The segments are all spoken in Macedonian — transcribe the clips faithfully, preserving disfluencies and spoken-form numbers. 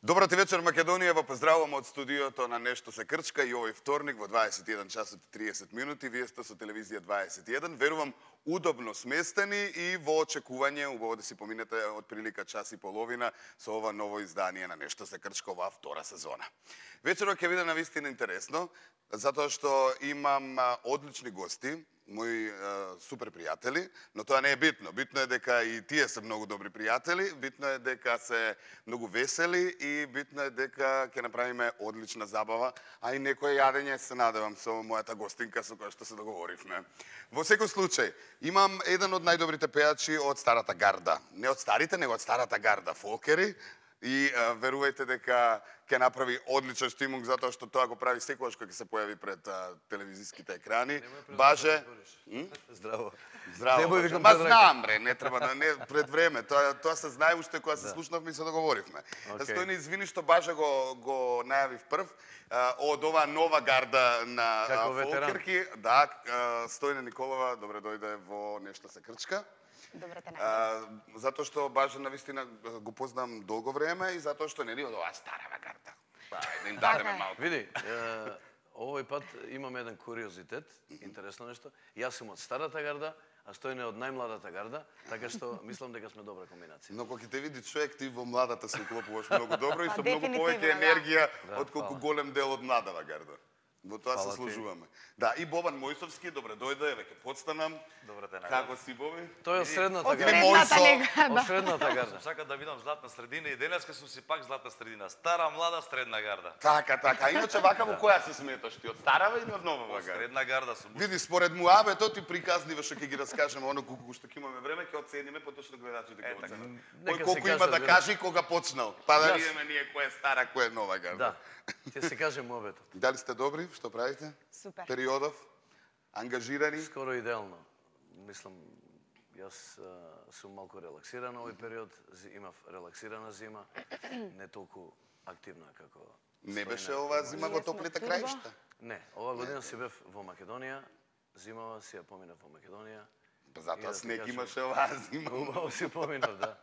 Добро ти вечер, Македонија. Во поздравувам од студиото на Нешто се крчка и овој вторник во дваесет и еден часот и триесет минути. Вие сте со телевизија дваесет и еден. Верувам, удобно сместени и во очекување, убаво да си поминете од прилика час и половина со ова ново издание на Нешто се крчка, оваа втора сезона. Вечерот ќе биде навистина интересно, затоа што имам одлични гости, мои е, супер пријатели, но тоа не е битно. Битно е дека и тие се многу добри пријатели, битно е дека се многу весели и битно е дека ќе направиме одлична забава, а и некој јадење се надевам со мојата гостинка со која што се договоривме. Во секој случај, имам еден од најдобрите пејачи од старата гарда. Не од старите, него од старата гарда, фолкери. И а, верувајте дека ќе направи одличен штимунг, затоа што тоа го прави секогаш кога ќе се појави пред а, телевизиските екрани. Баже... Здраво. Здраво. Баже. Ма знам, бре, не треба да не пред време. Тоа тоа се знае уште кога се да. слушнавме и се договоривме. Okay. Стојни, извини што Баже го го најавив прв а, од оваа нова гарда на фолкерки. Да, а, Стојна Николова, добре дојде во Нешто се крчка. Добре те најдов. Затоа што Баже навистина го познам долго време и затоа што нели од оваа старава гарда. Па, да им дадеме малку. Види, е, овој пат имам еден куриозитет, интересно нешто. Јас сум од старата гарда, а Стојне од најмладата гарда, така што мислам дека сме добра комбинација. Но кога ќе те види човек, ти во младата се уклопуваш многу добро и со многу повеќе енергија да, отколку голем дел од младава гарда. Во тоа се сложуваме. Да, и Бобан Мојсовски, добре дојде, веќе подстанам. Добре те најдов. Како си, Боби? Тој е од средната Од гарда. средната нега, Од средната гарда. Сакам да видам златна средина и денеска сум си пак златна средина. Стара, млада, средна гарда. Така, така. Иначе вака во која се сметаш ти? Од старава или од новава гарда? Средна гарда сум. Види, според муабето ти приказнива што ќе ги раскажеме, оно колку што ќе имаме време, ќе оцениме поточно гледачите ќе оценат. Кој колку има да каже и кога почнал. Па да видиме ние кој е стара, кој е нова гарда. Да. Ќе се каже муабетот. Дали сте добри? Што правите? Супер. Периодов? Ангажирани? Скоро идеално. Мислам, јас а, сум малку релаксиран овој период, имав релаксирана зима, не толку активна како Не беше оваа зима во топлите краишта? Не, ова година си бев во Македонија, зимава си ја поминав во Македонија. Затоа снег имаше оваа зима. Убаво си поминав, да.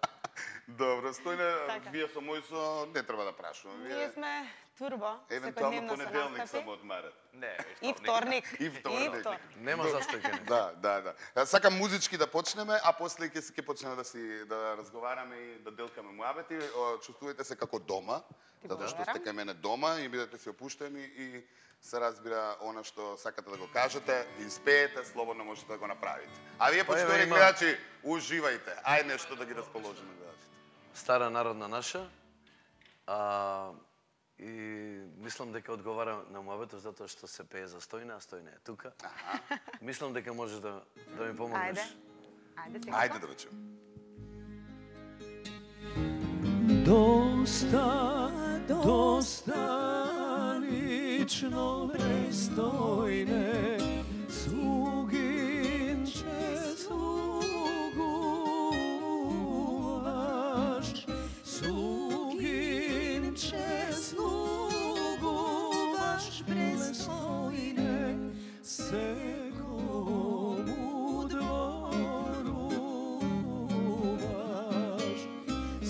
Добро, Стојне, Така. вие со Мојсо не треба да прашувам. Ние сме турбо, евентуално секојдневно се понеделник настапи. само одмарат. Не, И вторник. И вторник. Нема застојкени. Да, да, да. А, Сакам музички да почнеме, а после ќе ќе почнеме да си да разговараме и да делкаме муабети. О, Чувствувате се како дома, затоа што сте кај мене дома и бидете си опуштени и се разбира она што сакате да го кажете, испеете, слободно можете да го направите. А вие, Па, еве, почитувани има- гледачи, уживајте. Ај нешто да ги расположиме гледачите. Стара народна наша, а, и мислам дека одговара на муабетот затоа што се пее за Стојна, а Стојна е тука. Мислам дека можеш да, да ми помогнеш. Ајде. Ајде сега. Ајде да речем. Доста, доста лично престойне, слугинче слугуваш, слугинче слугуваш престойне, секому дворуваш.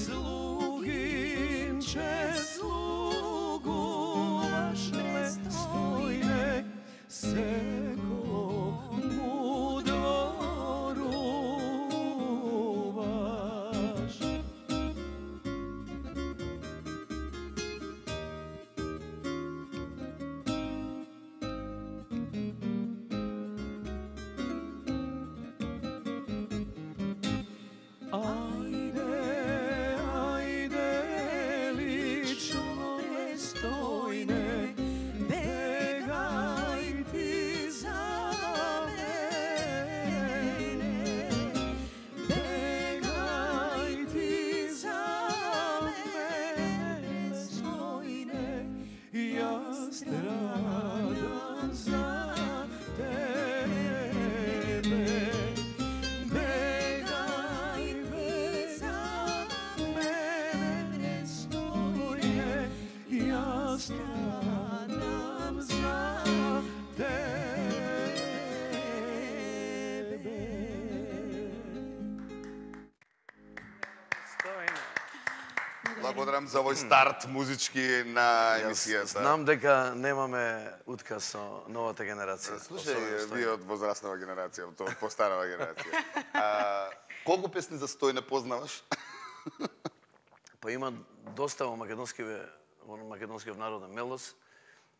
Слугинче слугуваш престойне, Благодарам за овој старт музички на емисијата. Знам дека немаме утказ со новата генерација. Слушај, вие од возрастнава генерација, од постарава генерација. А, колку песни за Стојне познаваш? Па има доста во македонскиве, во македонскиот народен мелос.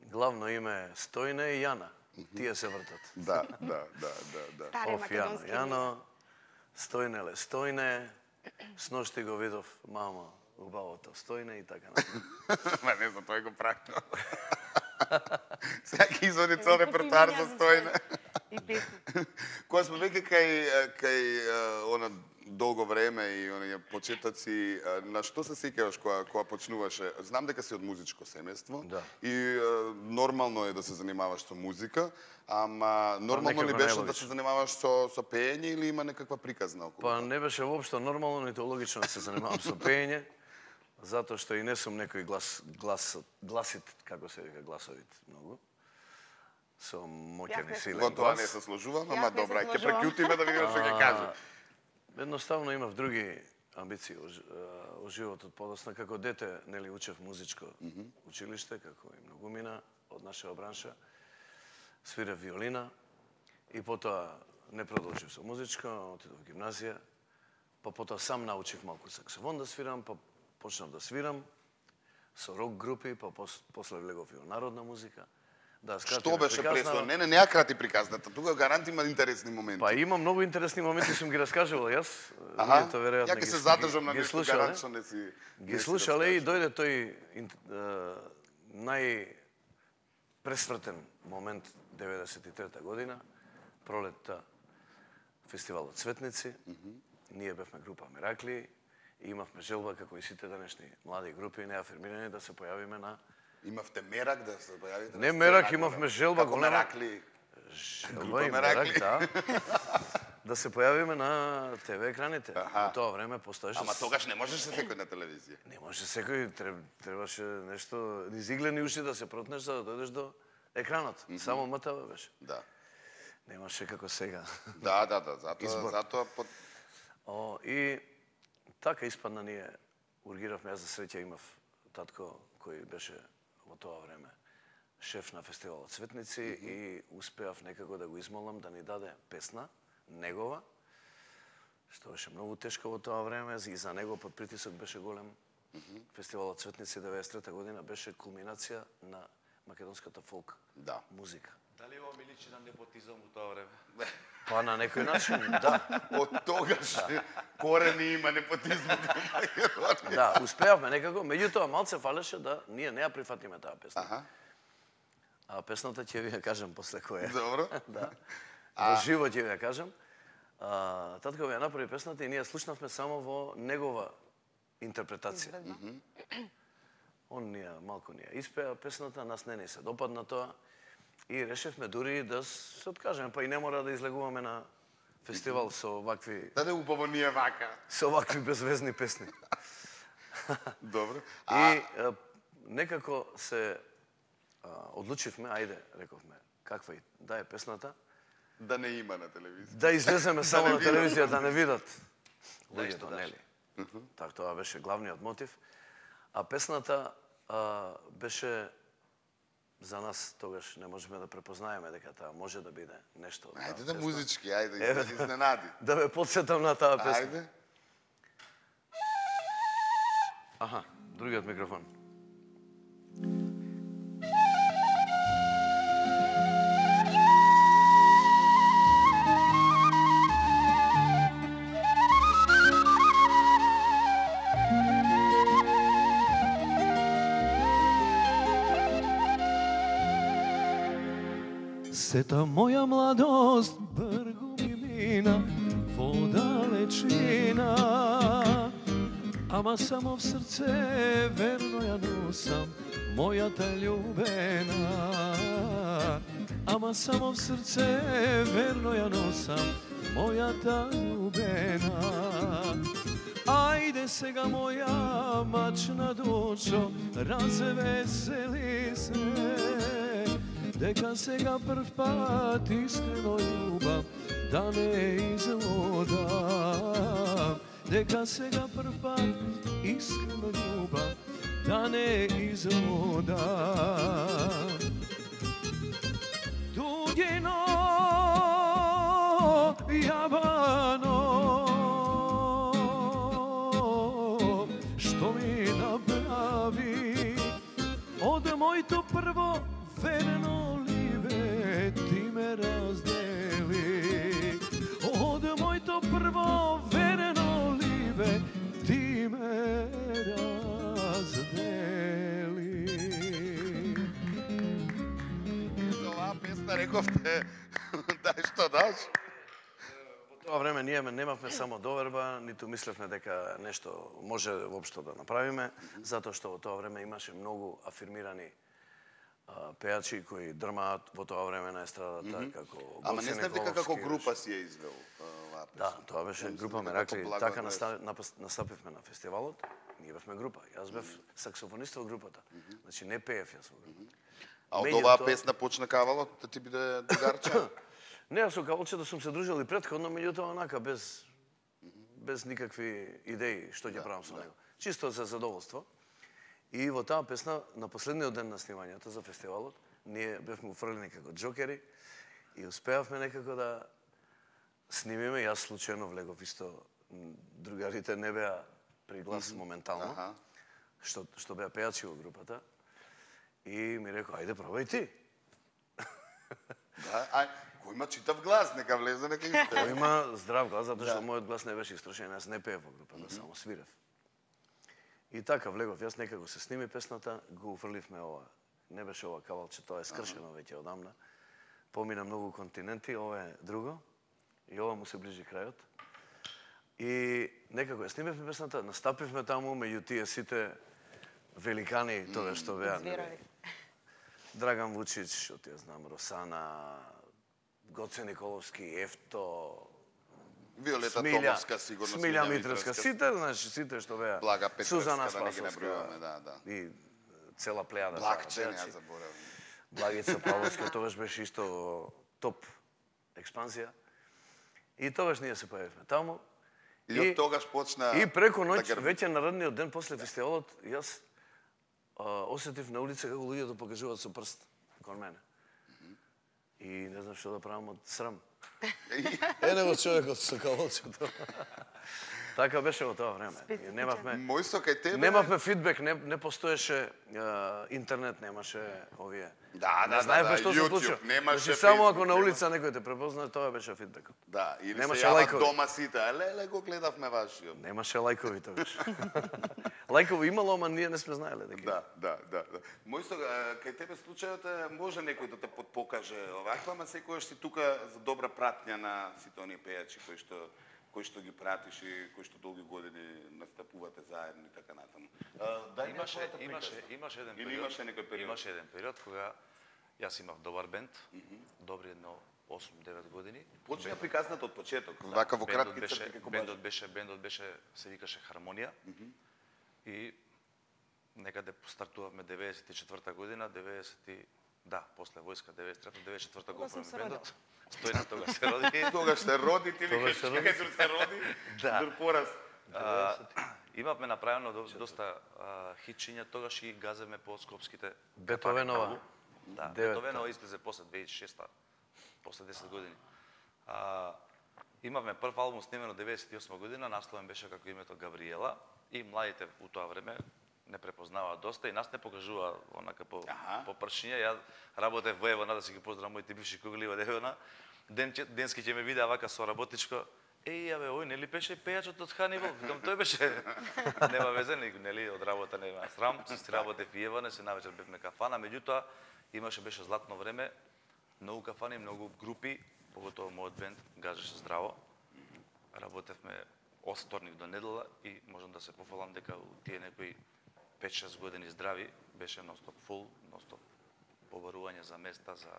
Главно име е Стојне и Јана. Тие се вртат. Да, да, да, да, да. Стари Оф, Јано, македонски Јано, Стојнеле, Стојне, сношти го видов мамо, убавото Стојне и така натаму. Ма не знам, тој го пракно. Сега ќе извади цел репертуар за Стојне. И песни. Кога сме веќе кај, кај она долго време и оние почетоци, на што се сеќаваш кога, кога почнуваше? Знам дека си од музичко семејство Да. и е, нормално е да се занимаваш со музика, ама нормално ли некако беше да најлогично. се занимаваш со, со пеење или има некаква приказна околу? Па не беше воопшто нормално, нито логично да се занимавам со пеење, затоа што и не сум некој глас, глас, гласит, како се вика, гласовит многу, со моќен и силен Во тоа глас. не се сложувам, Јас ама не се добра, ќе сложувам. прекјутиме да видиме што ќе кажеш. Едноставно имав други амбиции во ж- во животот подосна. Како дете, нели, учев музичко училиште, како и многумина од нашава бранша. Свирев виолина и потоа не продолжив со музичко, отидов во гимназија, па потоа сам научив малку саксофон да свирам, па почнав да свирам со рок групи, па пос, после влегов и во народна музика. Да, скратиме Што беше приказнава. пресо? Не, не, не ја крати приказната. Тука гарант има интересни моменти. Па има многу интересни моменти, сум ги раскажувал јас. Аха, Вие тоа веројатно ја ќе ги се сте- задржам на ги нешто слушале. гарант што не си Ги не си слушале и раскажеш. дојде тој ин- е, нај пресвртен момент деветдесет и трета година, пролетта, фестивалот Цветници. Ние бевме група Меракли и имавме желба, како и сите денешни млади групи неафирмирани, да се појавиме на Имавте мерак да се појавите? Не на мерак, сцена, имавме како- желба како голема. Меракли. Желба Група и Меракли. мерак, да. Да се појавиме на те ве екраните. Аха. Во тоа време постоеше. Ама тогаш не можеше секој на телевизија. Не може секој, треб- требаше нешто, низ иглени уши да се протнеш за да дојдеш до екранот. Само МТВ беше. Да. Немаше како сега. Да, да, да, затоа Избор. затоа под О, и така испадна ние ургиравме, јас за среќа имав татко кој беше во тоа време шеф на фестивалот Цветници и успеав некако да го измолам да ни даде песна негова, што беше многу тешко во тоа време и за него под притисок беше голем. Фестивалот Цветници деветдесет и трета година беше кулминација на македонската фолк да. музика. Дали ова ми личи на непотизам во тоа време? Па на некој начин, да. Од тогаш корени има непотизмот во Македонија. Да, успеавме некако, меѓутоа малце фалеше да ние не ја прифатиме таа песна. Аха. А песната ќе ви ја кажам после која. Добро. Да. Во живо ќе ви ја кажам. А, татко ми ја направи песната и ние слушнавме само во негова интерпретација. Он ни ја, малку ни ја испеа песната, нас не ни се допадна тоа и решивме дури да се откажеме, па и не мора да излегуваме на фестивал со вакви Даде убаво ние вака. со вакви безвезни песни. Добро. И А, е, некако се а, одлучивме, ајде, рековме, каква и да е песната, да не има на телевизија. да излеземе само не на видат. телевизија да не видат Да, луѓето, исто да. нели? Так тоа беше главниот мотив. А песната а, беше за нас тогаш не можеме да препознаеме дека таа може да биде нешто. од таа Ајде да песна. музички, ајде Еве, да изненади. Да ве потсетам на таа песна. Ајде. Аха, другиот микрофон. Сета моја младост бргу ми мина во далечина, ама само в срце верно ја носам мојата љубена. Ама само в срце верно ја носам мојата љубена. Ајде сега моја мачна душо, развесели се, дека сега прв пат искрено љубам, да не излодам. Дека сега прв пат искрено љубам, da ne izvoda. Dugino jabano, što mi napravi, od moj to prvo verno libe ti me razdeli. Od moj to prvo verno libe ti me razdeli. За оваа песна рековте, дај што даш? Во тоа време ние немавме само доверба, ниту мислевме дека нешто може воопшто да направиме, затоа што во тоа време имаше многу афирмирани а, пејачи кои дрмаат во тоа време на естрадата, mm -hmm. како Ама Гоце не знаев дека како Николовски, група си ја извел оваа песна. Да, тоа беше група Меракли. Така настапивме на фестивалот. Ние бевме група. Јас бев саксофонист во групата. Значи не пеев јас во групата. А од Меѓутоа- оваа песна почна Кавалот да ти биде другарче? Не, јас со Кавалчето сум се дружил и претходно, меѓутоа онака без без никакви идеи што ќе правам со него. Чисто за задоволство. И во таа песна на последниот ден на снимањето за фестивалот, ние бевме уфрлени како џокери и успеавме некако да снимиме. Јас случајно влегов исто, другарите не беа при глас моментално, Аха. што што беа пејачи во групата. И ми рекоа, ајде пробај ти. Да, ај, кој има читав глас, нека влезе, нека Тој испее. има здрав глас, затоа што Да. мојот глас не беше истрошен, јас не пеев во групата, само свирев. И така влегов, јас некако се сними песната, го уфрливме ова. Не беше ова Кавалче, тоа е скршено веќе одамна. Помина многу континенти, ова е друго. И ова му се ближи крајот. И некако ја снимевме песната, настапивме таму меѓу тие сите великани, тоа што беа. Зверови. Драган Вучич, што ти ја знам, Росана, Гоце Николовски, Ефто, Виолета Смилја, Томовска, сигурно. Смилја Митровска, сите, знаеш, сите што беа. Блага Петровска, Сузана да не ги Спасовска, набројуваме, да, да. И цела плејада. Блакче, пејачи. ја заборавам. Благица Павловска, тогаш беше исто топ експанзија. И тогаш ние се појавивме таму. И од тогаш почна И преко ноќ, да грби. веќе наредниот ден после фестивалот, јас а, осетив на улица како луѓето покажуваат со прст кон мене. И не знам што да правам од срам. Е, него човекот со кавалчето. Така беше во тоа време. Ние Немавме Мој со кај тебе. немавме фидбек, не не постоеше а, интернет, немаше овие. Да, не да, знаевме да, што се YouTube, случува. немаше Значи, само Facebook, ако на нема- улица некој те препознае, тоа беше фидбекот. Да, или Немаше се јават лајкови. дома сите, а леле го гледавме вашиот. Немаше лајкови тогаш. Лајкови имало, ама ние не сме знаеле дека. Да, да, да, да. Мој со а, кај тебе случајот е, може некој да те подпокаже оваква, ама секојаш си тука за добра пратња на сите оние пејачи кои што кои што ги пратиш и кои што долги години настапувате заедно и така натаму. А, дај Имаше, неговата имаше, приказна. имаше еден Или период. имаше некој период? Имаше еден период кога јас имав добар бенд, добри едно осум-девет години. Почна приказната од почеток, вака во Бендот кратки беше, црти како бендот баш. беше, бендот беше, се викаше Хармонија. И некаде стартувавме деветдесет и четврта година, деветдесет и да, после војска деветдесет и трета, деветдесет и четврта го Тогаш сум правиме се бендот. Стојна тогаш се роди. Тогаш се роди, ти Тогаш викаш, се роди. чекај, дур се роди, Да. дур пораз. А, имавме направено до- доста а, хитчиња, тогаш и газевме по скопските Бетовенова. кафани. Да, Девета. Бетовенова излезе после две илјади и шеста, после десет години. А, имавме прв албум снимено деветдесет и осма година, насловен беше како името Габриела и младите у тоа време не препознаваат доста и нас не покажува онака по, Аха. по пршиња. Ја работев во Евона, да си ги поздравам моите бивши кугли од Евона. Ден, денски ќе ме видеа вака со работичко. Еј, абе, ој, нели беше пејачот од Ханибал? Викам, тој беше. Нема везе, нели, од работа нема срам. Си работев и Еване, се навечер бевме кафана, меѓутоа имаше беше златно време, многу кафани, многу групи, поготово мојот бенд газеше здраво. Работевме од вторник до недела и можам да се пофалам дека у тие некои пет-шест години здрави беше ностоп фул, ностоп побарување за места, за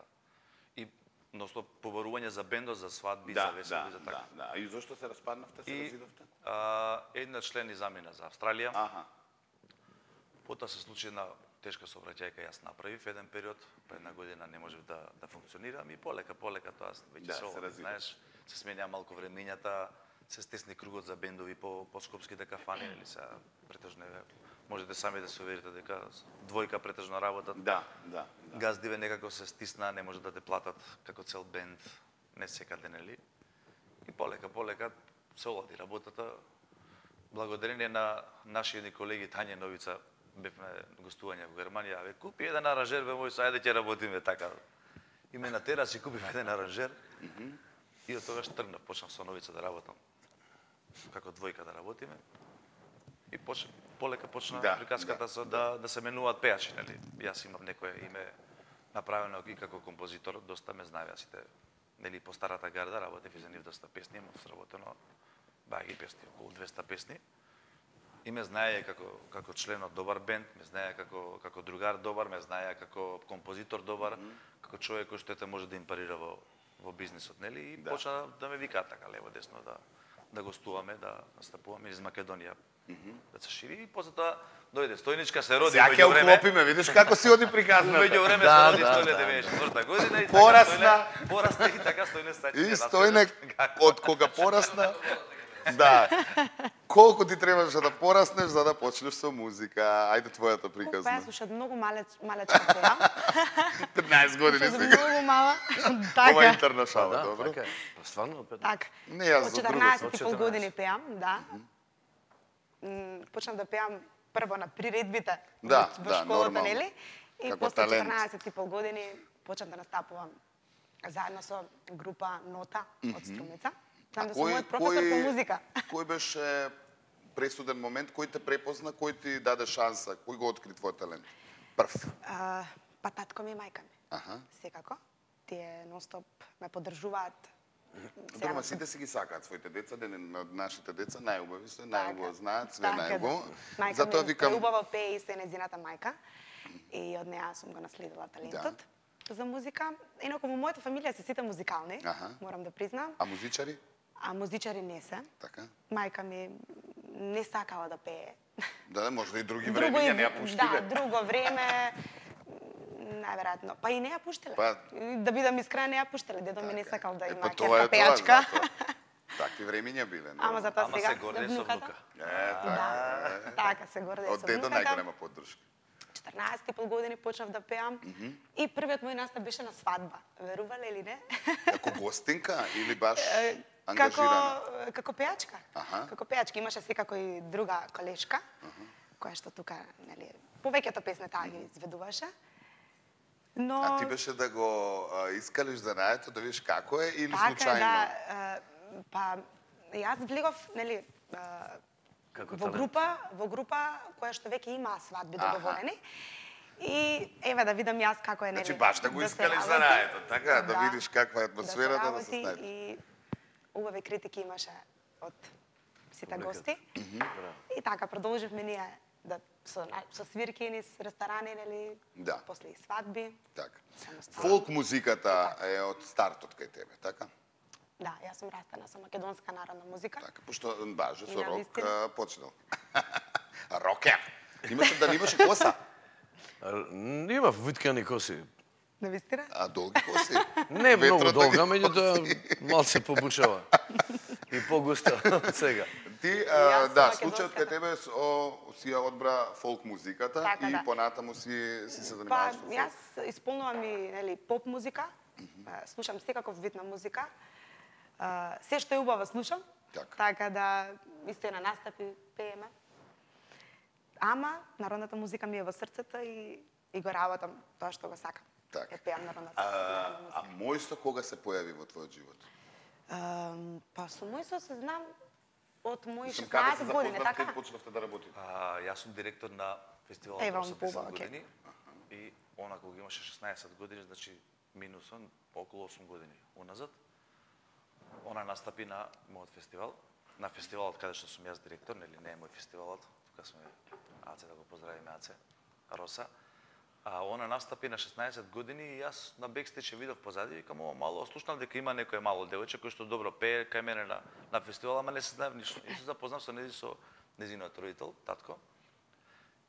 и ностоп побарување за бендот, за свадби, за Да, веселби, да, за така. да, да. И зошто се распаднавте, се И разидовте? а, една член и замина за Австралија. Аха. Потоа се случи една тешка сообраќајка, јас направив еден период, па една година не можев да да функционирам и полека полека тоа веќе Да, се се оводи, развива. знаеш, се сменја малку времењата, се стесни кругот за бендови по по скопските кафани, или се претежно е можете сами да се уверите дека двојка претежно работат. Да, да. да. Газдиве некако се стисна, не може да те платат како цел бенд, не секаде, нели? И полека, полека се олади работата. Благодарение на нашите колеги Тања Новица, бевме гостување во Германија, бе купи еден аранжер, бе мој, ајде ќе работиме така. И ме натера си купив еден аранжер. Mm -hmm. И од тогаш тргнав, почнав со Новица да работам. Како двојка да работиме. И поч... полека почна да, приказката да, со да, да се менуваат пејачи, нели? Јас имам некое име направено и како композитор, доста ме знаеа сите, нели, по старата гарда, работев и за нив доста песни, имав сработено баги песни, околу двеста песни. И ме знае како како член од добар бенд, ме знае како како другар добар, ме знае како композитор добар, mm -hmm. како човек кој што ете може да им парира во во бизнисот, нели? И да. Почна да ме викаат така лево десно да да гостуваме, да настапуваме из Македонија. Mm -hmm. Да се шири и после тоа дојде Стојничка, се роди меѓу време. Сега ќе уклопиме, видиш како си оди приказната. Меѓу време да, се роди да, Стојне да, деветдесет и четврта година и порасна, така порасна и така Стојне стајне. И Стојне од кога порасна. Да. Колку ти требаше да пораснеш за да почнеш со музика? Ајде твојата приказна. Колку јас уште многу мале малечка беа. петнаесет години Уште сега. многу мала. Ова Така. интерна шала, Да, добро? така е. Па стварно, пет. Така. Не, јас Од за друго. четрнаесет и Од пол години пеам, да. М, Почнав да пеам прво на приредбите Да, во да, школата, нормално. нели? И Како после талент. четрнаесет и пол години почнав да настапувам заедно со група Нота од Струмица. Знам да сум мојот професор по музика. Кој беше пресуден момент, кој те препозна, кој ти даде шанса, кој го откри твојот талент? Прв. А, па татко ми и мајка ми. Аха. Секако. Тие нонстоп ме поддржуваат. Добро, ма сум- сите си ги сакаат своите деца, ден од нашите деца најубави се, Така најубаво е. знаат, све Така е, најубаво. да. Мајка Затоа ми викам, преубаво пее и се незината мајка. И од неа сум го наследила талентот за музика. Инаку во мојата фамилија се сите музикални, Аха. морам да признам. а музичари? А музичари не се. Така. Мајка ми не сакала да пее. Да, да, може да и други Друго времења и- не ја пуштиле. Да, друго време најверојатно. Па и не ја пуштиле. Па- Да бидам искрена, не ја пуштиле. Дедо ми не Така е. сакал да Е, има па тоа е ќерка тоа, пејачка. затоа. Такви времења биле. не? Ама затоа Ама сега се горде со внука. Е, така. Да, така се горде Од со дедо внуката. најголема поддршка. четрнаесет и пол години почнав да пеам и првиот мој настап беше на свадба. Верувале или не? Како гостинка или баш Како ангажирана? како пејачка. Аха. Како пејачка имаше секако и друга колешка која што тука, нели, повеќето песни таа ги изведуваше. Но А ти беше да го а, искалиш занаето, да видиш како е или така е, случајно? да, а, па јас влегов, нели, а, Како во талент. група, во група која што веќе има свадби Аха. договорени. И еве да видам јас како е, нели. Значи баш да го се искалиш работи. занаето, така, да видиш каква е атмосферата, да се работи снајдеш. и убави критики имаше од сите Публиката. гости. И така продолживме ние да со на- со свирки низ ресторани, нели, Да. после и свадби. Така. Самостојно. Фолк музиката е од стартот кај тебе, така? Да, јас сум растена со македонска народна музика. Така, пошто баже И со на рок вистина. а, почнал. Рокер. Имаше да имаше коса, А, Имав виткани коси. На вистина? а долги коси. Не многу Ветрото ги долга, носи. меѓутоа малце побушава. И погуста од сега. Ти, Јас а, сум да, македонската. случајот кај тебе с- о, си ја одбра фолк музиката Така, и да. понатаму си, си се Па, занимаваш со фолк. јас исполнувам и, нели, поп музика. А, Слушам секаков вид на музика. А, Се што е убаво слушам. Така. Така да исто и на настапи пееме. Ама народната музика ми е во срцето и и го работам тоа што го сакам. Така. Е пеам народната А, народна а музика. мојсто кога се појави во твојот живот? Ам, Па со мојсто се знам од мои Мислам, каде се шеснаесет години, запознавте така? и почнавте да работите? А, јас сум директор на фестивалот Ева, за Пуба, десет окей. години. И она кога имаше шеснаесет години, значи минусом околу осум години уназад. Она настапи на мојот фестивал, на фестивалот каде што сум јас директор, нели не е мој фестивалот, тука сме Аце, да го поздравиме Аце, Роса. А она настапи на шеснаесет години и јас на бекстејдж ја видов позади, викам, ова мало, слушнав дека има некој мало девојче кој што добро пее кај мене на на фестивал, ама не се знаев ништо. И се запознав со нејзи со нејзиниот родител, татко.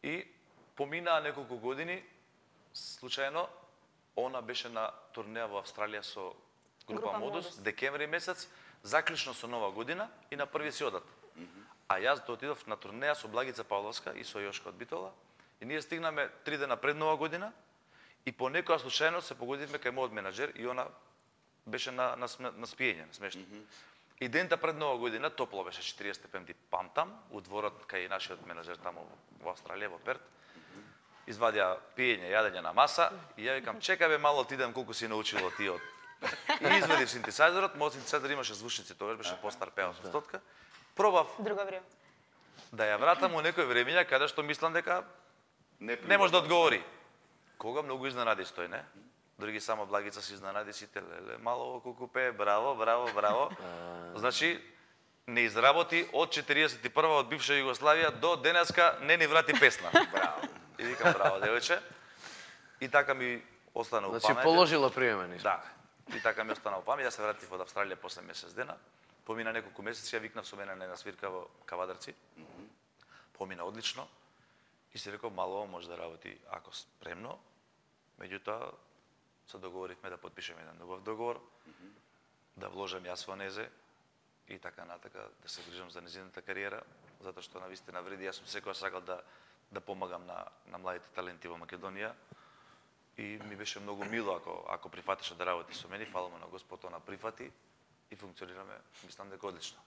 И поминаа неколку години, случајно, она беше на турнеја во Австралија со група, Група Модус, Модус. декември месец, заклучно со Нова година и на први си одат. А јас да отидов на турнеја со Благица Павловска и со Јошко од Битола. И ние стигнаме три дена пред Нова година и по некоја случајно се погодивме кај мојот менаџер и она беше на на, на спиење, на смешно. Mm -hmm. И дента пред Нова година топло беше четириесет степени, памтам, у дворот кај нашиот менаџер таму во Австралија, во Перт. Извадија пиење, јадење на маса и ја викам чекај бе мало ти идам колку си научило ти од. И извадив синтезајзерот, мојот синтезајзер имаше звучници, тогаш беше постар пеал со стотка. Пробав Друго време. да ја вратам у некој времења каде што мислам дека Не, не може да одговори. Кога многу изненади стој, не? Други само Благица се изненади сите, леле, мало колку пее, браво, браво, браво. Значи, не изработи од четириесет и прва од бивша Југославија до денеска не ни врати песна. Браво. И викам браво, девојче. И така ми остана у памет. Значи положила приемен испит. Да. И така ми остана у памет. Јас се вратив од Австралија после месец дена. Помина неколку месеци, ја викнав со мене на една свирка во Кавадарци. Помина одлично. И се реков, мало може да работи ако спремно. Меѓутоа, се договоривме да подпишеме еден убав договор, да вложам јас во незе и така натака, да се грижам за незината кариера, затоа што навистина вреди. Јас сум секоја сакал да да помагам на на младите таленти во Македонија и ми беше многу мило ако ако прифатеше да работи со мене. Фала му на Господ, она прифати и функционираме, мислам дека одлично.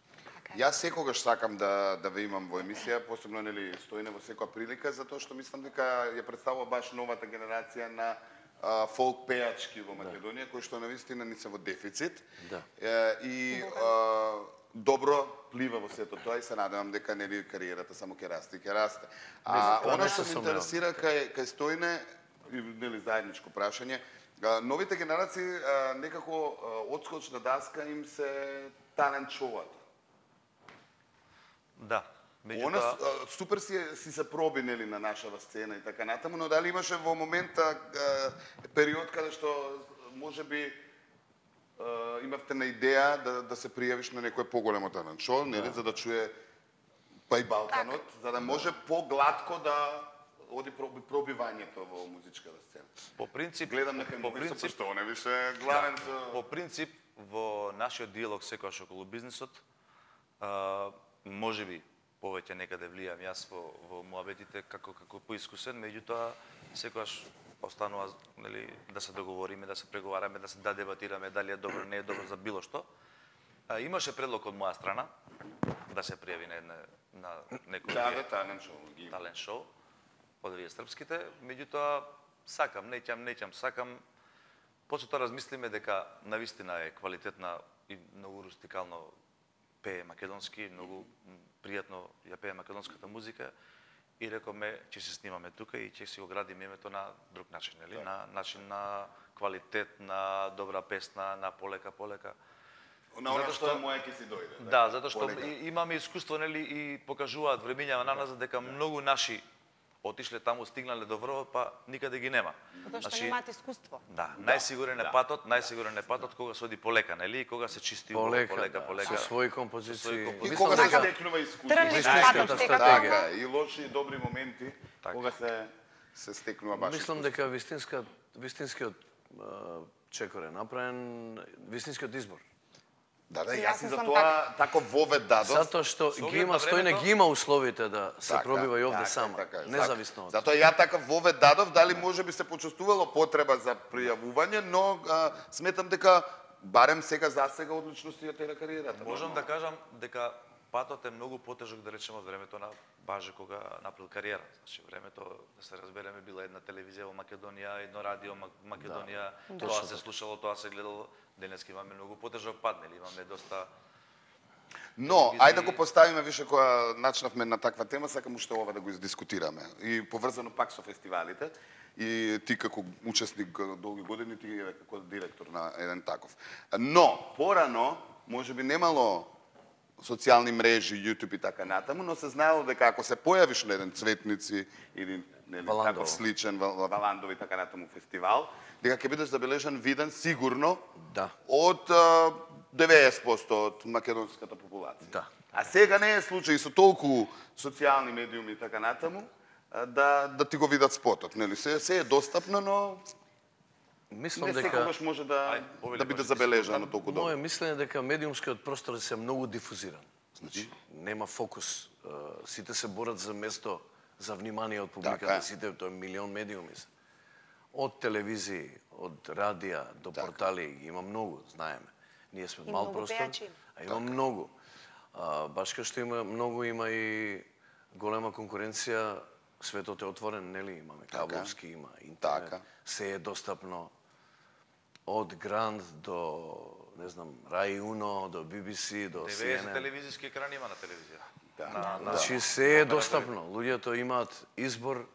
Јас секогаш сакам да да ве имам во емисија, посебно нели Стојне во секоја прилика, затоа што мислам дека ја представува баш новата генерација на а, фолк пејачки во Македонија, кои што навистина не се во дефицит. Да. Е, и а, добро плива во сето тоа и се надевам дека нели кариерата само ќе расте и ќе расте. А Тоа она не што се ме интересира кај кај Стојне, и нели заедничко прашање, а, новите генерации а, некако а, одскочна даска им се талент шоуата. Да. Она Меѓутоа, а, супер си, си се проби нели на нашава сцена и така натаму, но дали имаше во момента а, период каде што можеби а, имавте на идеја да да се пријавиш на некој поголемо талент шоу, нели, за да чуе па и Балканот, за да може погладко да оди проби, пробивањето во музичката сцена. по принцип, Гледам дека по по принцип, принцип што не беше главен со по принцип во нашиот диалог секогаш околу бизнисот, а, можеби повеќе некаде влијам јас во во муабетите како како поискусен, меѓутоа секогаш останува нели да се договориме, да се преговараме, да се да дебатираме дали е добро, не е добро за било што. А, имаше предлог од моја страна да се пријави на една на некој да, да, талент шоу ги има. талент шоу од овие српските, меѓутоа сакам, неќам, неќам, сакам. После тоа размислиме дека навистина е квалитетна и многу рустикално пее македонски, многу пријатно ја пее македонската музика и рековме ќе се снимаме тука и ќе си го градиме името на друг начин, нели? На начин на квалитет, на добра песна, на полека полека. На она Затоа што што- е моја ќе си дојде. Да, затоа што полека. и- имаме искуство, нели, и покажуваат времењава на нас дека многу наши отишле таму, стигнале до врвот, па никаде ги нема. Затоа што немаат искуство. Да, најсигурен е патот, најсигурен е патот кога се оди полека, нели? И кога се чисти убаво, Полека, полека, да, полека. со своји композиции. композиции. И Мислам кога се дека- стекнува искуство. Трли Вистинската патот секако. стратегија. Така, и лоши и добри моменти, Така. кога се се стекнува баш. Мислам искуство. дека вистинска вистинскиот а, чекор е направен, вистинскиот избор. Да, да, И јас јас и за мислам тоа тако вовед дадов. Затоа што Со ги оглед има на Стојне, времето- ги има условите да се Така, пробива и овде така, сама, така, независно од. Затоа ја така вовед дадов, дали може би се почувствувало потреба за пријавување, но а, сметам дека барем сега за сега одлично си ја тера кариерата. Можам нормално. да кажам дека патот е многу потежок, да речеме, од времето на Баже кога направил кариера. Значи, времето, да се разбереме, била една телевизија во Македонија, едно радио во Македонија, Да. тоа се слушало, тоа се гледало. Денеска имаме многу потежок пат, нели? Имаме доста. Но, телевизии. ајде да го поставиме више кога начнавме на таква тема, сакам уште ова да го издискутираме. И поврзано пак со фестивалите. И ти како учесник долги години, ти е како директор на еден таков. Но, порано, може би немало социјални мрежи, YouTube и така натаму, но се знаело дека ако се појавиш на еден Цветници или нели, Валандово. таков сличен Вал- Валандово и така натаму фестивал, дека ќе бидеш забележан, виден сигурно Да. од а, деветдесет проценти од македонската популација. Да. А сега не е случај со толку социјални медиуми и така натаму, а, да да ти го видат спотот, нели? Се се е достапно, но Мислам не дека секогаш може да Ај, повели, да биде може, забележано толку Моје добро. мислење е дека медиумскиот простор се многу дифузиран. Значи, нема фокус сите се борат за место, за внимание од публиката, Така е. сите, тоа е милион медиуми се. Од телевизии, од радија до портали, ги има многу, знаеме. Ние сме И мал многу простор, пејачи има. а има многу. А, баш кај што има многу, има и голема конкуренција, светот е отворен, нели? Имаме кабловски, има интернет, Така. се е достапно. Од Гранд до, не знам, Рај Уно, до Би Би Си, до Си Ен деветдесет Ен. телевизиски екрани има на телевизија. Да. На, на, Значи се е достапно. Луѓето имаат избор.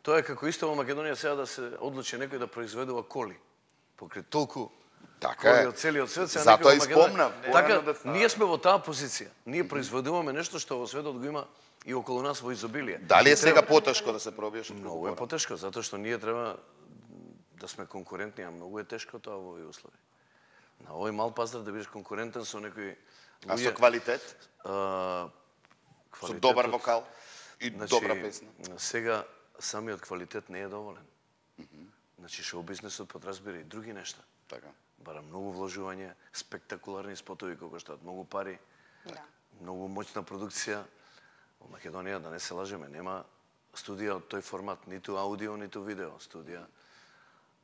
Тоа е како исто во Македонија сега да се одлучи некој да произведува коли. Покрај толку Така коли е. од целиот свет, сега Затоа некој и во Македонија- спомнав, Така, порано да- ние сме во таа позиција. Ние произведуваме нешто што во светот го има и околу нас во изобилие. Дали И е сега треба- потешко да се пробиеш? Многу е потешко, затоа што ние треба да сме конкурентни, а многу е тешко тоа во овие услови. На овој мал пазар да бидеш конкурентен со некои А со квалитет? а, Со добар квалитетот- вокал? И Значи, добра песна? Сега самиот квалитет не е доволен. Значи шоу бизнесот подразбира и други нешта. Така. Бара многу вложување, спектакуларни спотови кои коштаат многу пари, Да. многу моќна продукција. Во Македонија, да не се лажеме, нема студија од тој формат, ниту аудио, ниту видео, студија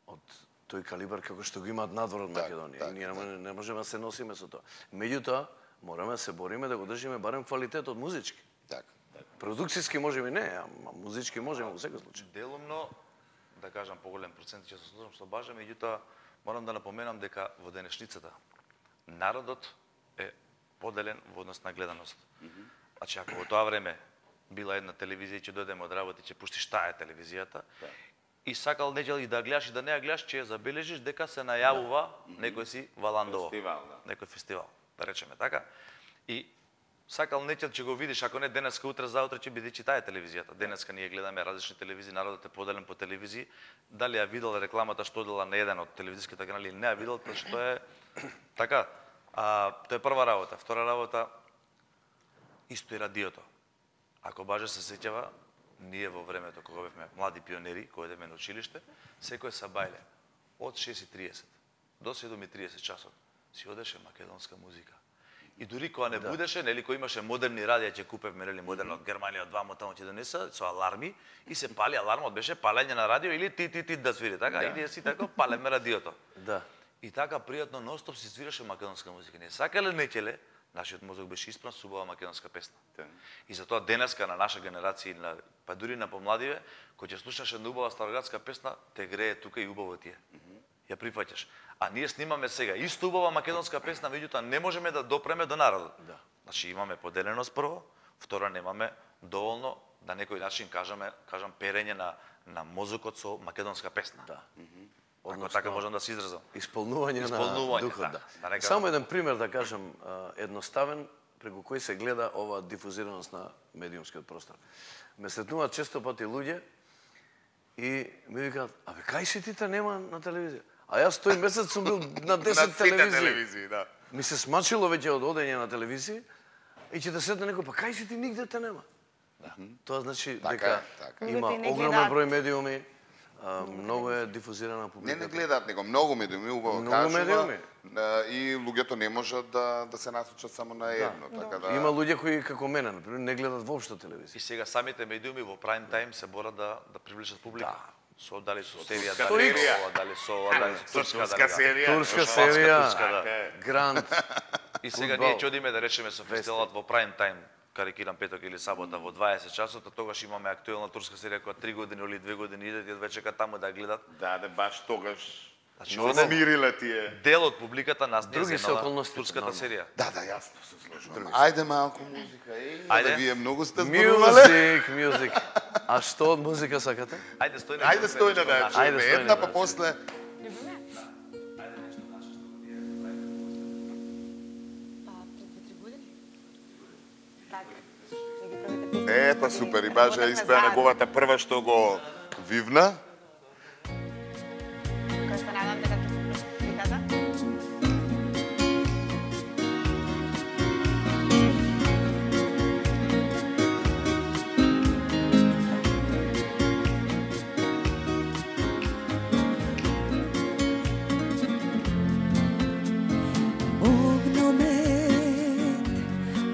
од тој калибар како што го имаат надвор од Так, Македонија. так, И ние не може- не можеме да се носиме со тоа. Меѓутоа, мораме да се бориме да го држиме барем квалитетот музички. Така. Продукцијски можеме не, ама музички можеме во секој случај. Делумно, да кажам поголем процент, ќе се слушам со Бажа, меѓутоа морам да напоменам дека во денешницата народот е поделен во однос на гледаност. Значи, ако во тоа време била една телевизија, ќе дојдеме од работа и ќе пуштиш таа е телевизијата, и сакал недел и да гледаш и да не ја гледаш, ќе ја забележиш дека се најавува некој си Валандово. Фестивал, да. Некој фестивал, да речеме така. И сакал нечел ќе го видиш, ако не денеска, утре, заутре ќе биде таа е телевизијата. Денеска ние гледаме различни телевизии, народот е поделен по телевизии. Дали ја видел рекламата што дела на еден од телевизиските канали или не ја видел, тоа што е така. А, тоа е прва работа. Втора работа, исто и радиото. Ако Баже се сеќава, ние во времето кога бевме млади пионери, кои одевме на училиште, секој сабајле од шест и триесет до седум и триесет часот си одеше македонска музика. И дури кога не будеше, нели, кој имаше модерни радија, ќе купевме, нели, модерно од Германија, од вамо таму ќе донеса со аларми и се пали алармот, беше палење на радио или ти ти ти да свири, така? И ние си така палеме радиото. Да. И така пријатно ностоп се свираше македонска музика. Не сакале неќеле, нашиот мозок беше испран со убава македонска песна. И затоа денеска на наша генерација, на, па дури на помладиве, кој ќе слушаш една убава староградска песна, те грее тука и убаво ти е. Ја прифаќаш. А ние снимаме сега исто убава македонска песна, меѓутоа не можеме да допреме до народот. Да. Значи имаме поделеност прво, второ немаме доволно да некој начин кажаме, кажам перење на на мозокот со македонска песна. Да. Ако така можам да се изразам. Исполнување, Исполнување, на духот, да. да. Да не кажам. Само еден пример да кажам, а, едноставен, преку кој се гледа ова дифузираност на медиумскиот простор. Ме сретнуваат често пати луѓе и ми викаат, абе, кај си ти те нема на телевизија? А јас тој месец сум бил на На десет сите телевизии. телевизии, да. Ми се смачило веќе од одење на телевизија и ќе те сетне некој, па кај си ти, нигде те нема. Да. Тоа значи Така дека е, така. има Луѓето и не огромен гледаат. број медиуми, а, многу е дифузирана Не, публиката. не гледаат него, многу медиуми, убаво Многу кажува, медиуми. а, и луѓето не можат да да се насочат само на едно, така да. Има луѓе кои како мене, например, не гледат воопшто телевизија. И сега самите медиуми во прайм тајм се борат да да привлечат публика. Да. Со дали со серија, турска дали серија. со ова, дали со ова, дали со Со турска, турска дали да. серија. Турска Шпанска, серија, турска, да. Гранд. И сега фудбал. ние ќе одиме да речеме со фестивалот во прайм тајм, карикирам петок или сабота во дваесет часот, а тогаш имаме актуелна турска серија која три години или две години идат и веќе таму да ја гледат. Да, да, баш тогаш. Значи, Но овде смирила ти е. дел од публиката нас не Други се земала околности, турската нормално. серија. Да, да, јасно се сложувам. Ајде малку музика. Еј, Ајде. да вие многу сте зборувале. Мюзик, мюзик. А што од музика сакате? Ајде стој на Ајде стој на да Ајде, чуеме стој една, на па да после Па, пред две-три години. Така. И ги првите песни. Ето супер, и баже Работевме испеа заедно. неговата прва што го вивна. Кој се надам дека ќе ви каза? Огномет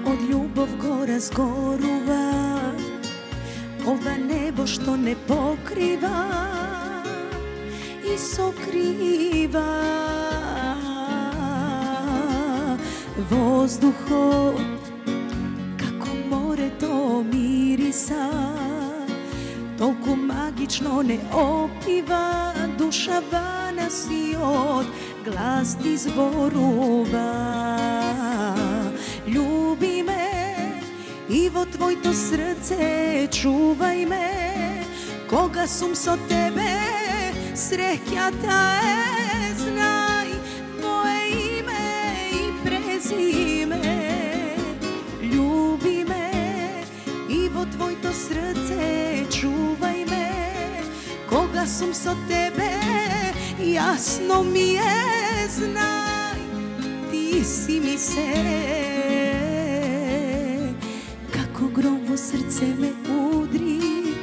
од љубов го разгорува небо што не покрива и сокрива воздухот како морето мириса, толку магично не опива, душава на сиот глас ти зборува. Љуби ме и во твоето срце чувај ме, кога сум со тебе среќата е, знај моje име и презиме. Љуби ме и во твоето срце чувај ме, кога сум со тебе јасно ми е, знај ти си ми се. Како гром во срце ме удри,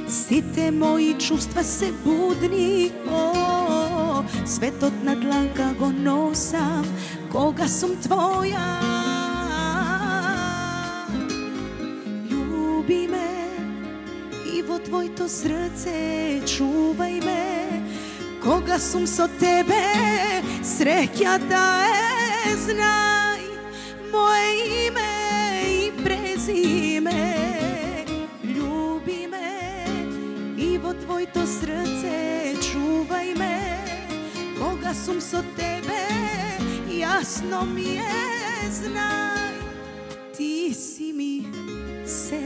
сите мои чувства се будни. О, светот на дланка го носам кога сум твоја. Љуби ме и во твоето срце чувај ме, кога сум со тебе среќата е, знај моje име и презиме. Љуби ме и во твоето срце чувај ме, кога сум со тебе јасно ми е, знај ти си ми се.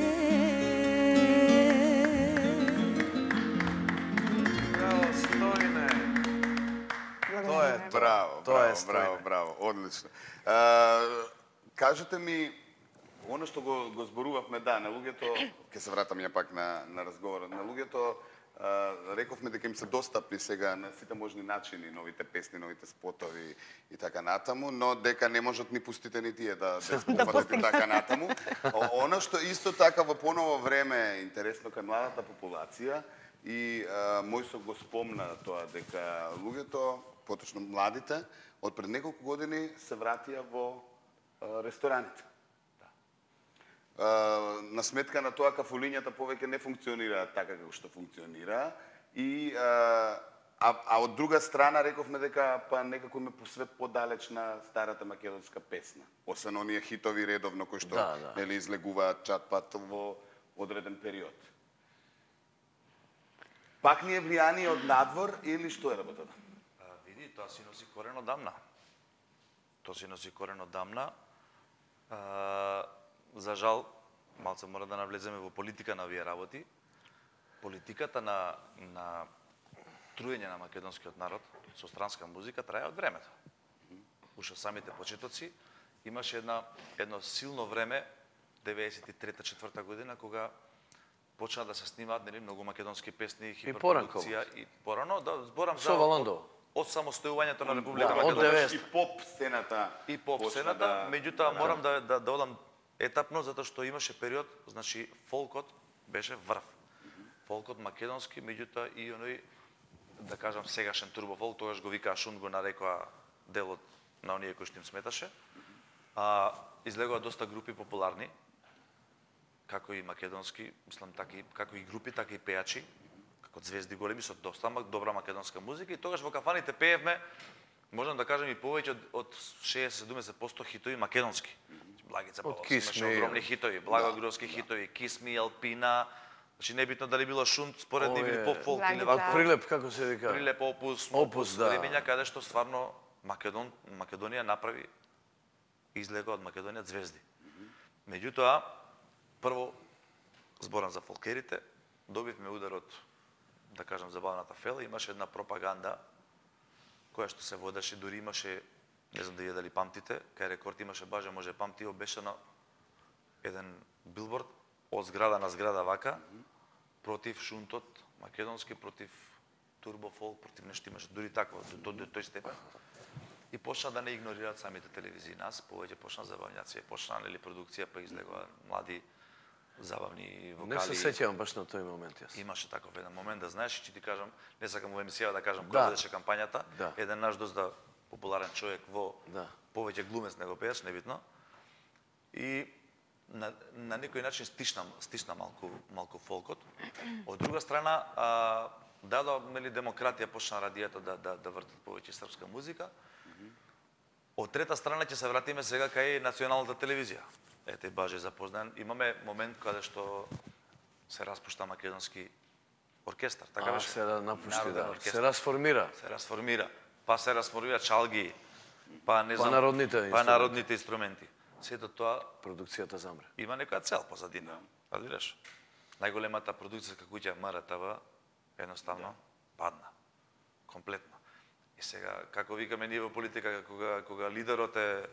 Браво, Стојне. Тоа е тоа. Браво, Тоа е браво, Стојне. браво, браво, одлично. А, кажете ми, оно што го, го зборувавме, да, на луѓето, ќе се вратам ја пак на, на разговорот, на луѓето, а, рековме дека им се достапни сега на сите можни начини, новите песни, новите спотови и така натаму, но дека не можат ни пустите ни тие да, да спофатат и така натаму. О- Оно што исто така во поново време е интересно кај младата популација, и а, Мојсо го спомна тоа дека луѓето, поточно младите, од пред неколку години се вратија во а, рестораните. А, на сметка на тоа кафулињата повеќе не функционираат така како што функционира, и а, а, а од друга страна рековме дека па некако ме посвет подалеч на старата македонска песна, освен оние хитови редовно кои што Да, да. нели излегуваат чат-пат во одреден период. Пак ни е влијание од надвор или што е работата? А, види, тоа си носи корен одамна. Тоа си носи корен одамна. А, за жал, малце мора да навлеземе во политика на овие работи. Политиката на, на труење на македонскиот народ со странска музика трае од времето. Уште самите почетоци имаше една, едно силно време, деветдесет и трета четврта година, кога почна да се снимаат нели многу македонски песни, хиперпродукција и порано, да зборам за Со Валандово. од, од самостојувањето на Република Да, од Македонија деветдесет. И поп сцената. и поп почна сцената, да- меѓутоа морам да да да одам етапно затоа што имаше период, значи фолкот беше врв. Фолкот македонски, меѓутоа и оној, да кажам, сегашен турбофолк, тогаш го викаа Шунт, го нарекоа делот на оние кои што им сметаше. А излегоа доста групи популарни, како и македонски, мислам така и како и групи, така и пејачи, како звезди големи со доста мак- добра македонска музика, и тогаш во кафаните пеевме, можам да кажем и повеќе од, од шеесет до седумдесет проценти хитови македонски. Благица Од Павловски Kiss имаше Me. огромни хитови, Благогровски хитови, Kiss Me, Алпина, значи небитно дали било Шунт, според нив или Овие- поп фолк или Благица. вако. Прилеп, како се вика? Прилеп, Опус, Опус, да. времења каде што стварно Македон, Македонија направи излега од Македонија звезди. Меѓутоа, прво зборам за фолкерите, добивме удар од, да кажам, забавната фела, имаше една пропаганда која што се водеше, дури имаше, не знам дали дали памтите, кај Рекорд имаше баже, може памти, обешено еден билборд од зграда на зграда вака, против Шунтот, македонски, против турбофолк, против нешто имаше, дури такво, до, до, до тој степен. И почна да не игнорираат самите телевизии нас, повеќе почна забавњација, почна нели продукција, па излегува млади забавни вокали. Не се сеќавам баш на тој момент јас. Имаше таков еден момент, да знаеш, че ти кажам, не сакам во емисија да кажам Да. која беше кампањата, Да. еден наш доста популарен човек во Да. повеќе глумец него пееш, небитно. И на, на некој начин стишна, стишна малку, малку фолкот. Од друга страна, а, дадо мели демократија почна радиото да да да вртат повеќе српска музика. Од трета страна ќе се вратиме сега кај националната телевизија. Ете баже запознан, имаме момент каде што се распушта македонски оркестар, така А, беше. се напушти, Народен да. оркестар. Се расформира. Се расформира. Па се расформира чалги, па не Па знам, народните па инструменти. народните инструменти. Сето тоа Продукцијата замре. има некоја цел позадина. Разбираш? Најголемата продукцијска куќа М Р Т В едноставно падна. Комплетно. И сега, како викаме ние во политика, кога, кога лидерот е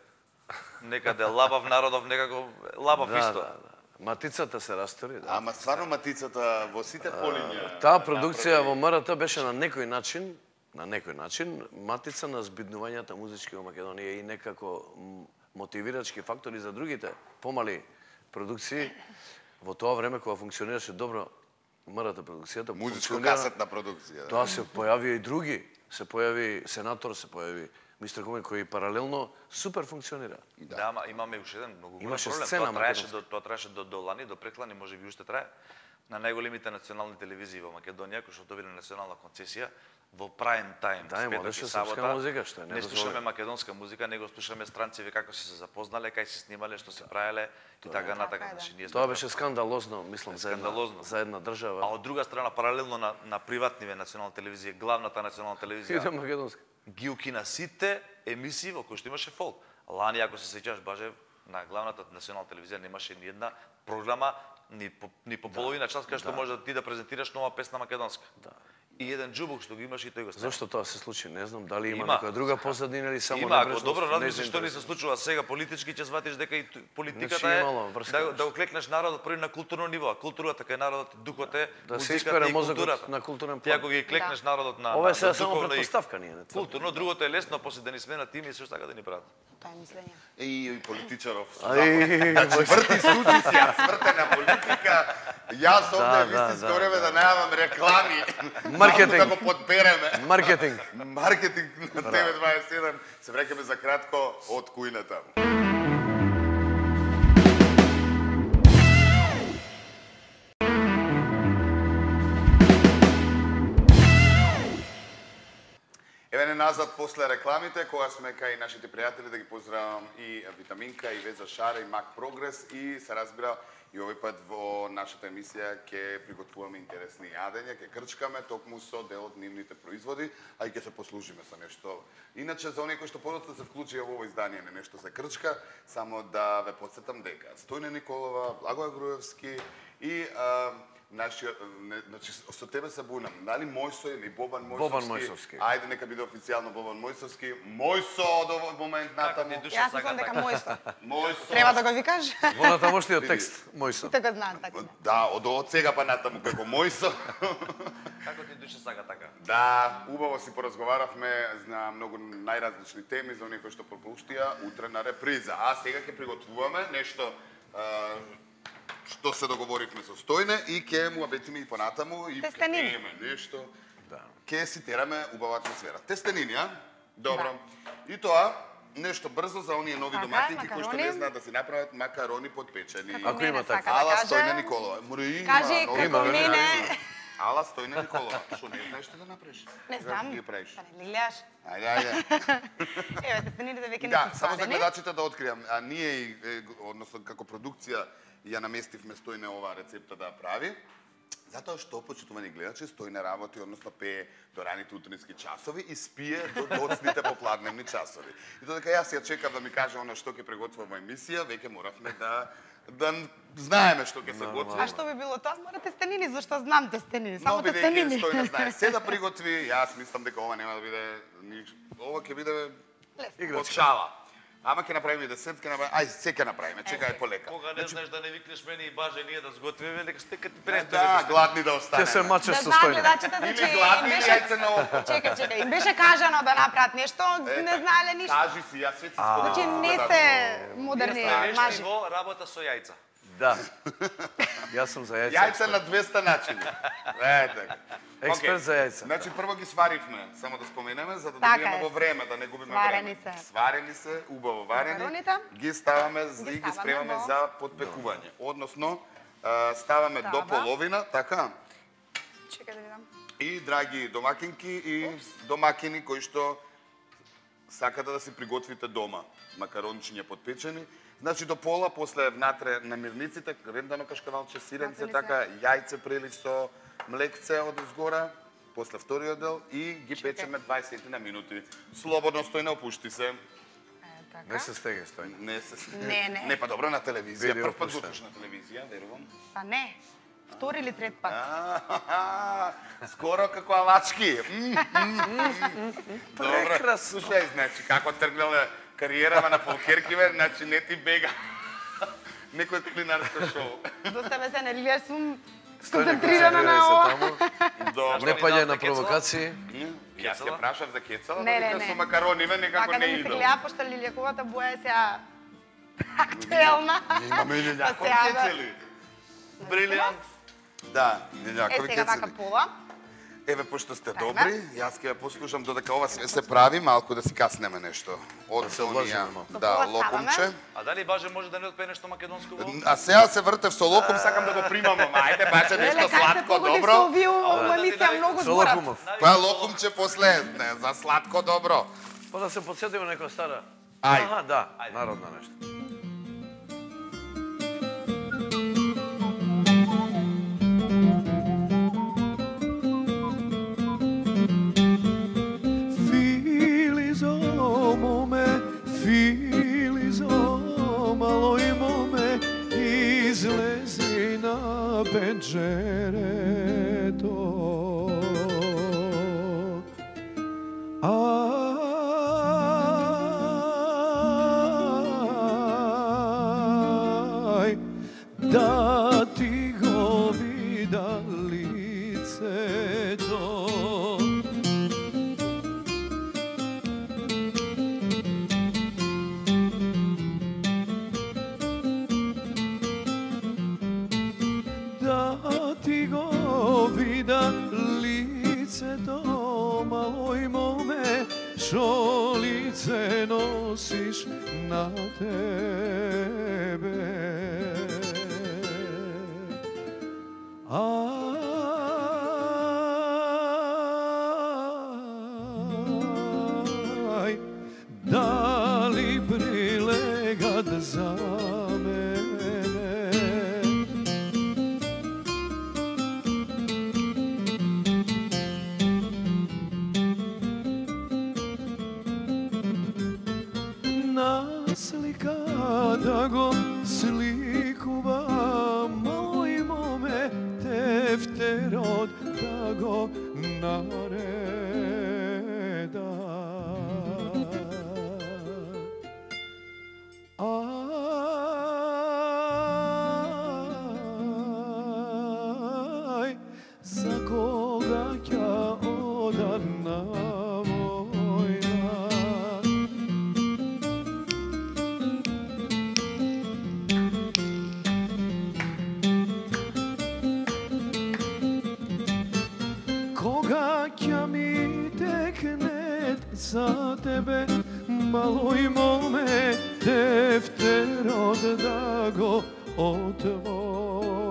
некаде лабав, народов некако лабав Да, исто. да, да. Матицата се растори, да. Ама стварно матицата во сите полиња. Таа продукција во М Р Т беше на некој начин, на некој начин, матица на збиднувањата музички во Македонија и некако м, мотивирачки фактори за другите помали продукции. Во тоа време кога функционираше добро М Р Т продукцијата, функционира- Музичко-касетна продукција. Да. Тоа се појави и други. Се појави Сенатор, се појави мистер Комен, кој паралелно супер функционира. Да, да, ама имаме уште еден многу голем Имаше проблем. сцена Тоа траеше македонска. до тоа траеше до до лани, до преклани, можеби уште трае. На најголемите национални телевизии во Македонија, кои што добиле национална концесија, во прайм тајм, Да, имаше српска музика, што е не недозволено. слушаме македонска музика, него слушаме странци како се се запознале, кај се снимале, што се правеле и така натака. Така е, да. Значи, ние Тоа сме беше скандалозно, мислам, за една, Скандалозно. за една А држава. од друга страна, паралелно на, на приватниве национална телевизија, главната национална И телевизија, на македонска. ги укина сите емисии во кои што имаше фолк. Лани, ако се сеќаш, баже, на главната национална телевизија немаше ни една програма, ни по, ни по половина час, кај што да. може да ти да презентираш нова песна македонска. Да. И еден џубук што го имаш и тој го стави. Зошто тоа се случи? Не знам, дали има, Има. некоја друга позадина или само Има, ако небрежност, добро размислиш што ни се незаинтересираност. случува сега политички, ќе сватиш дека и ту- политиката Значи, е имало врска да, нешто. да оклекнеш народот први на културно ниво. А културата кај народот, духот е Да се музиката испере и мозокот културата. на културен Ти план. ако ги клекнеш народот на Ова е на- сега на само духовно и претпоставка, ние не тврдиме. културно, другото е лесно после да ни сменат име и се така да ни прават. Тоа е мислење. И, и политичаров. Ај, Врти студии си, ја свртена политика. Јас овде Да, в да, истинско да, време да да. најавам реклами. Маркетинг. Малку да го подбереме. маркетинг. Маркетинг на Т В дваесет и еден. Се враќаме за кратко од кујната. Еве не назад после рекламите, кога сме кај нашите пријатели, да ги поздравам и Витаминка, и Веза Шара, и Мак Прогрес, и се разбира, и овој пат во нашата емисија ќе приготвуваме интересни јадења, ќе крчкаме токму со дел од нивните производи, а и ќе се послужиме со нешто. Иначе, за оние кои што подоцна се вклучија во ово издание на нешто за крчка, само да ве подсетам дека Стојна Николова, Благоја Груевски и а, нашиот, не, значи, со тебе се бунам, дали Мојсо или Бобан Мојсовски? Бобан Мојсовски. Ајде, нека биде официјално Бобан Мојсовски. Мојсо од овој момент натаму. ти душа Јас сака мислам дека така. мојсто. Мојсо. Треба да го викаш? Во натамошниот текст, мој со. Така знаат така. Да, од од сега па натаму како Мојсо. Како ти душа сака така? Да, убаво си поразговаравме на многу најразлични теми за оние кои што пропуштија утре на реприза. А сега ќе приготвуваме нешто а, што се договоривме со Стојне и ќе му абетиме и понатаму и ќе Тестенини. пиеме нешто. Да. Ќе си тераме убава атмосфера. Тестенини, а? Добро. И тоа нешто брзо за оние нови Така, доматинки кои што не макарони. знаат да си направат макарони подпечени. Како Ако мене има така. сака да Ала каже. Стојна Николова. Мора има. Кажи нови како има, доматинки. мене. Ала Стојна Николова. Што не знаеш што да направиш? Не Како знам. ги правиш? Па не ли гледаш? Ајде, ајде. Еве, тестенините веќе не Да, се само за свадени. гледачите да откриам, а ние и, е, односно како продукција ја наместивме Стојне оваа рецепта да ја прави. Затоа што, почитувани гледачи, Стојне работи, односно пее до раните утрински часови и спие до доцните попладневни часови. И додека јас ја чекав да ми каже она што ќе приготвува во емисија, веќе моравме да да знаеме што ќе се готви. А што би било тоа? Мора тестенини, зашто знам тестенини, само Но бидејќи тестенини. Стојне знае се да приготви, јас мислам дека ова нема да биде ни- ова ќе биде од шала. Ама ќе направиме десет, ќе направиме, ај се ќе направиме, чекај полека. Кога не знаеш да не викнеш мене и баже ние да сготвиме, нека сте кај ти Да, гладни да Ќе останеме. се мачеш Да со знаат Стојне. гледачите, Или значи гладни им или беше... јајце на око. Чекај, чекај, им беше кажано да направат нешто, Е, не така. знаеле ништо. Кажи си, јас свет си Значи споделам. не сте модерни Вие сте мажи. вешти во работа со јајца. Да. Јас сум за јајца. Јајца на двеста начини. Е, така. Експерт Океј. за јајца. Значи, прво ги сваривме, само да споменеме, за да Така добиеме е. во време, да не губиме Сварени време. се. Сварени се, убаво варени. Макароните. Ги ставаме Ги и ги ставаме спремаме во- за подпекување. Односно, а, ставаме до Таба. половина, така? Чекај да видам. И драги домакинки и домакини кои што сакате да си приготвите дома макарончиња подпечени. Значи до пола, после внатре намирниците, рендано кашкавалче, сиренце, Напрели се. така, јајце прелив со млекце од згора, после вториот дел и ги печеме дваесет на минути. Слободно, стој, не опушти се. Е, така. Не се стеге, стој. Не се... Не, не. Не, па добро на телевизија. Видео Прв пат пуштен. го слушаш на телевизија, верувам. Па не. Втори или трет пат. А, скоро како алачки. М, м, м. Добро. Прекрасно. Слушај, значи, како тргнале кариерава на Фолкеркивер, значи не ти бега некој кулинарско шоу. Доста се не лија сум Стој, не концентрирана концентрирај на се ова. таму. Добро. Не паѓај на Кецала? провокации. М, Јас ја прашав за кецала, Не, да не, вика не. со макарониве некако Така да не ми се идел. гледа, пошто лилјаковата боја е сега актуелна. Имаме Па лилјакови сега, да. кецели. Брилијант. Да, Е, лилјакови сега така кецели. пола. Еве, пошто сте Така. добри, јас ќе ја послушам додека ова све се прави, малку да си каснеме нешто. Од се онија, облажиме малку. да, Со пола локумче. ставаме. А дали Баже може да не отпее нешто македонско во? А сега се вртев со локум, сакам да го примам, ама ајде баче Леле, нешто кај се сладко, погоди со добро. овие ова емисија многу Со зборат. локумов. Која локумче после, не, за сладко, добро. Па да се подсетиме некоја стара. Ајде. Аха, да, народна нешто. Filizo mome, Filizo, malo i mome, izlezi na penđereto. Aj, da ti go vida lice to. Da ti go vida lice to, maloj mome, što lice nosiš na tebe. Aj, da li prilegad za mene? Naslika da go slikuva, malo i mome tefterod da go nareda. Aj, za koga ja odan na vojna. Koga ќе mi teknet za tebe, malo i mome tefterod da go otvora.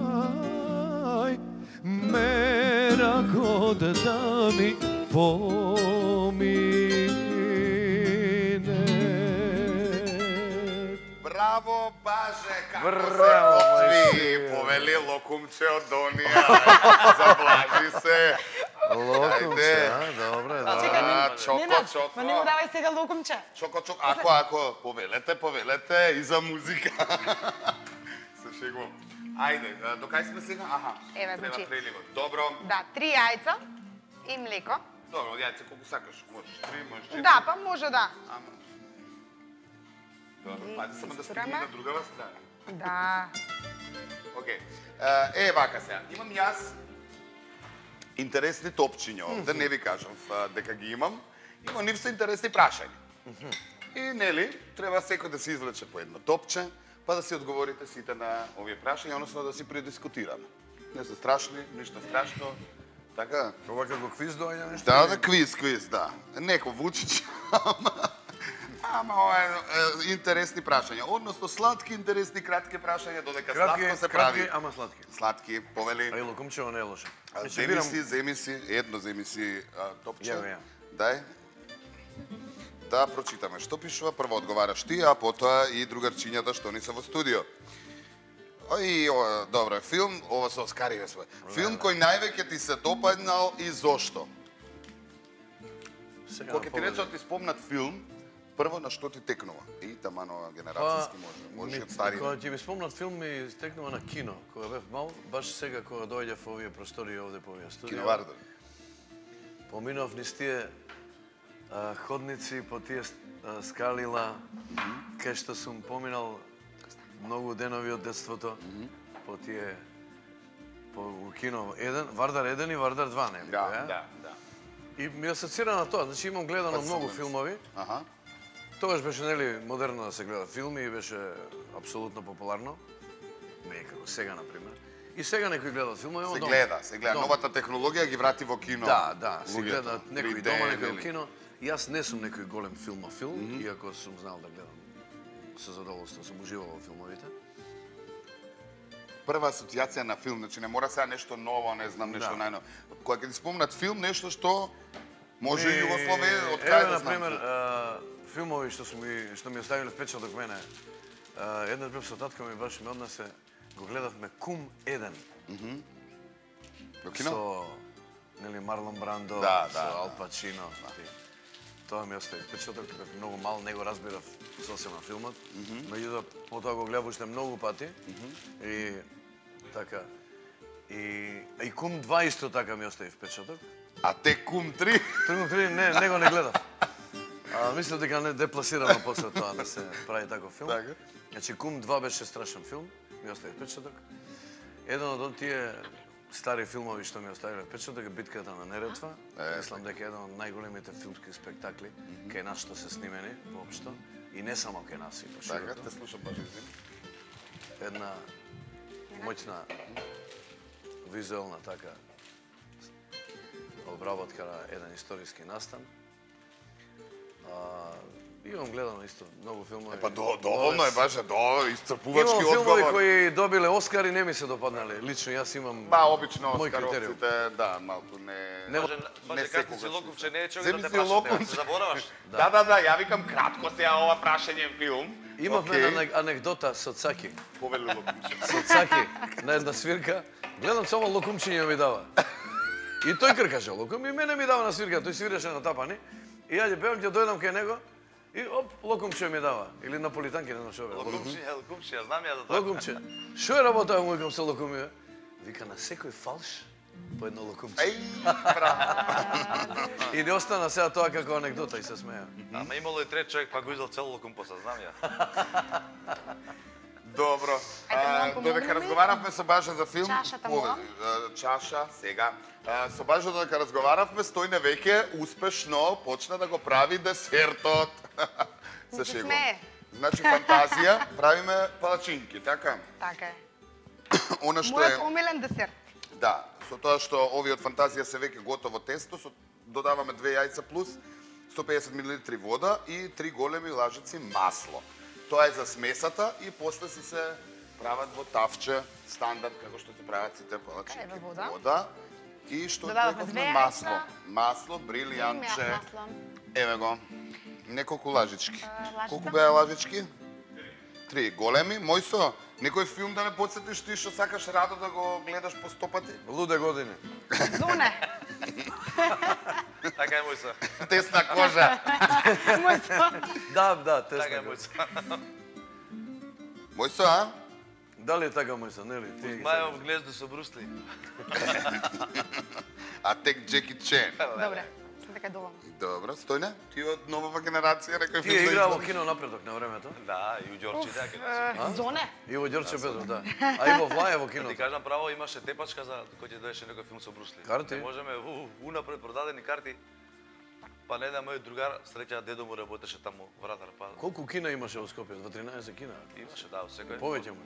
Aj, mera god da mi pomine. Браво, Баже, како се Браво, готви. мој Повели локумче од онија. Заблажи се. Локумче, Ајде. а, добре, А, добре. чоко, Ненад, чоко. ма не му давај сега лукумче. Чоко, чоко. Ако, ако, повелете, повелете и за музика. Се шегувам. Ајде, а, до кај сме сега? Аха, Еве, треба значи- преливот. Добро. Да, три јајца и млеко. Добро, од јајце колку сакаш. Можеш три, можеш четири. Да, па може да. Ама. Добро, И пази само да истураме. стигне на другава страна. Да. Океј. Океј. Е, вака сега. Имам јас интересни топчиња овде, не ви кажам дека ги имам. Има нив се интересни прашања. И, нели, треба секој да се извлече по едно топче, па да си одговорите сите на овие прашања, односно да си предискутираме. Не се страшни, ништо страшно. Така? Ова како квиз доаѓа нешто? Да, да, квиз, квиз, да. Неко Вучич, ама... Ама ова е интересни прашања. Односно, сладки, интересни, кратки прашања, додека сладко се прави. Кратки, ама сладки. Сладки, повели. Ај, лукумчево не е лошо. Земи си, земи си, едно земи си топче. Ја, ја. Дај. Да прочитаме што пишува. Прво одговараш ти, а потоа и другарчињата што ни се во студио. Ој, о, добро, филм, ова со Оскари све. Филм кој највеќе ти се допаднал и зошто? Кога ќе ти речат ти спомнат филм, прво на што ти текнува? И тамано генерацијски може, може од стари. Кога ќе ми спомнат филм ми текнува на кино, кога бев мал, баш сега кога доаѓав во овие простори овде по овие студија. Киновардар. Поминав низ тие а, ходници по тие а, скалила, кај што сум поминал многу денови од детството, по тие по у кино еден, Вардар еден и Вардар два, нели? Да, да, да. И ми асоцира на тоа, значи имам гледано многу филмови. Аха. Тогаш беше, нели, модерно да се гледа филми и беше апсолутно популарно. Не како сега, например. И сега некои гледат филмови, Се дома. гледа, се гледа. Дома. Новата технологија ги врати во кино. Да, да, се луѓето. гледат некои три Д, дома, некои во нели? кино. И јас не сум некој голем филмофил, mm -hmm. иако сум знал да гледам со задоволство, сум уживал во филмовите. Прва асоциација на филм, значи не мора сега нешто ново, не знам нешто Да. најново. Кога ќе ти спомнат филм, нешто што може и Југословија, од Еве, кај да например, знам. а, филмови што сум ми што ми оставиле впечаток мене. А, еднаш бев со татко ми, баш ме однесе, го гледавме Кум еден. Во кино? Со нели Марлон Брандо, Да, со да, Ал Пачино. Тоа ми остави впечаток, бев многу мал, не го разбирав сосема филмот. Меѓутоа потоа го гледав уште многу пати. И така и и Кум два исто така ми остави впечаток. А те Кум три? Кум три не, не го не гледав. А, мислам дека не депласирано после тоа да се прави таков филм. Така. Значи Кум два беше страшен филм, ми остави впечаток. Еден од тие стари филмови што ми оставиле впечаток е Битката на Неретва. Е, Мислам дека е еден од најголемите филмски спектакли кај нас што се снимени воопшто и не само кај нас и Така, поширото. те слушам баш извини. Една моćна визуелна така обработка на еден историски настан. А, имам гледано исто многу филмови. Па до, доволно е баш, до исцрпувачки Имам филмови одговор. кои добиле Оскари, не ми се допаднале. Лично јас имам Ба, обично мој критериум. Оскаровците, да, малку не... Не, Може, може не како си секогаш. локумче не е човек Земи да те си прашате, локумче. се забораваш. Да, да, да, ја викам кратко сега ова прашање филм. Имавме Океј. една анекдота со Цаки. Повели локумче. Со Цаки на една свирка. Гледам само локумчиња ми дава. И тој кркаше локум и мене ми дава на свирка. Тој свиреше на тапани. И јаде пеам, ќе дојдам кај него и оп, локумче ми дава. Или наполитанки, не знам што бе. Локумче, локумче, ја знам ја за тоа. Локумче. Што е работа му викам со локуми? бе? Вика на секој фалш по едно локумче. Еј, браво. И не остана сега тоа како анекдота и се смеја. Ама имало и трет човек, па го издал цел локум поса, знам ја. Добро. Ајде, А, малку Додека помогни ми. разговаравме со Бажа за филм, Чашата поведи. моја. А, Чаша, сега. А, Со Бажа додека разговаравме, Стојне веќе успешно почна да го прави десертот. Се Не се шегувам. смее. Значи фантазија, правиме палачинки, така? Така е. Она што Мојот е, омилен десерт. да, со тоа што овие од фантазија се веќе готово тесто, со додаваме две јајца плюс сто песет милилитри вода и три големи лажици масло. Тоа е за смесата и после си се прават во тавче стандард како што се прават сите палачинки. Еве вода. Вода. И што Додаваме рековме две масло. јајца. Масло, брилијантче. Масло. Еве го. Неколку лажички. А, лажица? Колку беа лажички? Три. Големи. Мојсо, некој филм да ме подсетиш ти што сакаш радо да го гледаш по сто пати? Луде години. Зуне. Така е мојса. Тесна кожа. Мојот. Да, да, Така е тесно. мојса. Мојсо, а? Дали е така мојса, нели? Ти ги Мајов глезду со Брусли. А тек Джеки Чен. Добре. дека е доволна. Добро, Стојне, ти од новава генерација, некој Ти е играл во кино напредок на времето. Да, и у Ѓорчи така. Е, Зоне. И во Ѓорче Петров, да. А и во Влаје во кино. Ти кажам право, имаше тепачка за кој ќе доеше некој филм со Брусли. Карти? Не можеме у, унапред продадени карти. Па не да мој другар, среќа дедо му работеше таму вратар, па Колку кина имаше во Скопје? Во тринаесет кина. имаше да, секој. Повеќе му.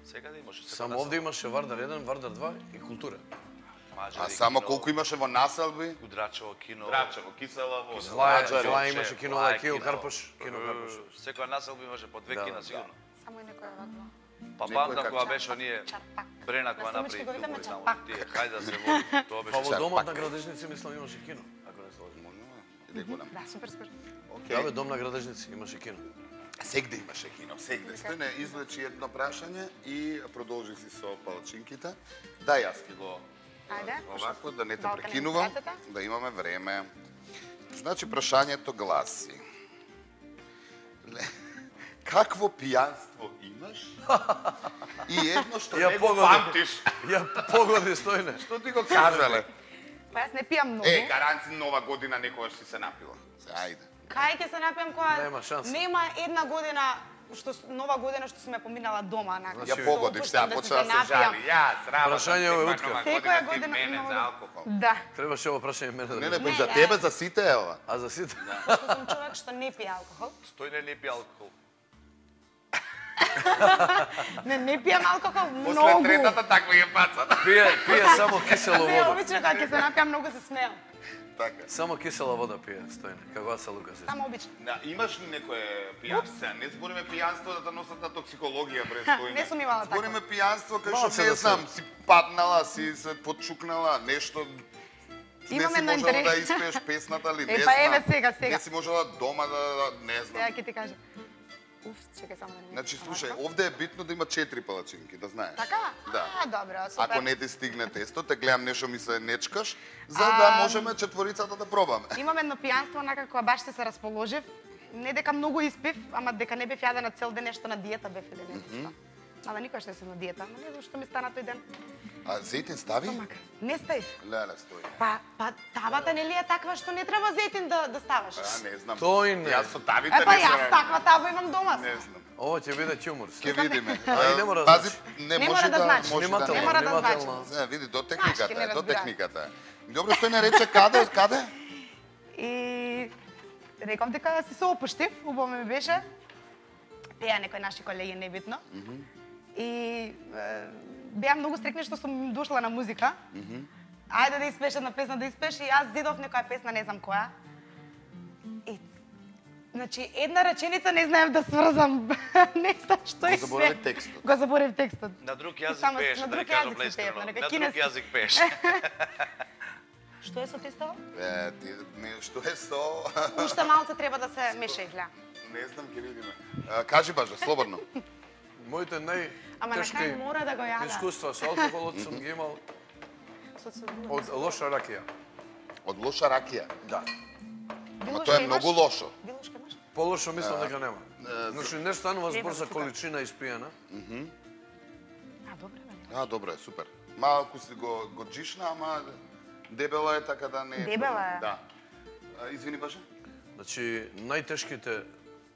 Секаде имаше. секој Само насел. овде имаше Вардар еден, Вардар два и Култура. Маџари А само кино, колку имаше во населби? Удрачево кино. Драчево, кисела вода. Влаје, Маџари, Влаје имаше кино, Влаје Кил кино. Карпош, кино Карпош. Секоја населба имаше по две Да, кина да. сигурно. Само и некој вакво. Па Некој памтам како кога беше оние Чарпак. Брена кога На направи Сумички го видиме филмови таму. Чарпак. Тие, хајде да се води. Тоа Па беше во Чарпак. домот на Градежници мислам имаше кино, ако не се лажам. Иде голем. Да, супер, супер. Да, бе, дом на Градежници имаше кино. Сегде имаше кино, сегде. Стојне, извлечи едно прашање и продолжи си со палачинките. Да, јас ќе го Ајде. овако, да не те Балкан прекинувам, емиграцијата. да имаме време. Значи, прашањето гласи. Ле- Какво пијанство имаш? И едно што Ја не го погоди. памтиш. Ја погоди Стојне. Што ти го кажале? Па јас не пијам многу. Е, гаранци нова година некогаш си се напила. Се, ајде. Кај ќе се напијам кога Нема шанса. нема една година што с- нова година што сме поминала дома, на. Ја погодив, сега почна да се жали. Јас, работа. Прашање е утка. Секоја ти година мене много- за алкохол. Да. Требаше ово прашање мене да Не, не, не, па Не, за ја- тебе, за сите е ова. А за сите? Што сум човек што не пие алкохол. Стојне не пи алкохол. Не, не пијам алкохол После многу. третата таква ја паца. Пие, пие само кисела Не, вода. обично кога ќе се напијам многу се смеам. Така. Само кисела вода пие Стојне, како Аца Лукас. Само обично. Да, имаш ли некое пијанство? Не збориме пијанство да те носат на токсикологија пред Стојне. Не сум имала такво. Збориме пијанство кај Малце што не да се- знам, си паднала, си се подчукнала, нешто не Имам си едно можела интерес- да испееш песната ли, не Е, знам. па еве сега, сега. Не си можела дома да, да- не знам. Сега ќе ти кажам. Уф, чекај само да не ми. Значи, слушај, Овако. овде е битно да има четири палачинки, да знаеш. Така? Да. А, добро, супер. Ако не ти стигне тесто, те гледам нешто ми се нечкаш, за да А, можеме четворицата да пробаме. Имам едно пијанство, онака кога баш се расположив. Не дека многу испив, ама дека не бев јадена цел ден, нешто на диета бев или не знам што. Ама никош не сум на диета, ама не знам што ми стана тој ден. А зетин стави? Стомак. Не стаив. Леле, стои. Па, па табата нели е таква што не треба зетин да да ставаш. А, не знам. Тој не. Јас со тавите Е, па не јас се- таква таба имам дома. Не знам. Ово ќе биде ќумур. Ќе видиме. А, и не мора да Пази, значи. не Не може мора да значи. може Внимателно, Не мора да внимателно. значи. Да, види, до Знаеш, техниката ке не е, до разбира. техниката е. Добро, што не рече каде, каде? И реков дека си се опуштив, убаво ми беше. Пеа некои наши колеги, небитно. И е, беа многу стрекни што сум дошла на музика. Ајде да испееш една песна, да испееш, и јас зидов некоја песна, не знам која. И, значи, една реченица не знаев да сврзам. Не знам што Го е заборави све. текстот. Го заборев текстот. На друг И јазик само пееш, на да друг ти кажам јазик си пеев, искрено. на На нека друг кинески. јазик пееш. Што е со тестова? Е, ти, не, што е со... Уште малце треба да се меша и гледа. Не знам, ќе видиме. А, кажи, Баже, слободно. Моите Ама на најтешки крај мора да го јада. искуства со алкохолот сум ги имал Со- со- од лоша ракија. Од лоша ракија. Да. Ама Билушка тоа е имаш? многу лошо. Билушка имаш? Полошо мислам дека нема. е, Значи не станува збор Нема за тука. количина испиена. А, добре, бе. А, добро е, супер. Малку си го, го джишна, ама дебела е, така да не е... Дебела проблем. е. Да. А, извини, Баже? Значи најтешките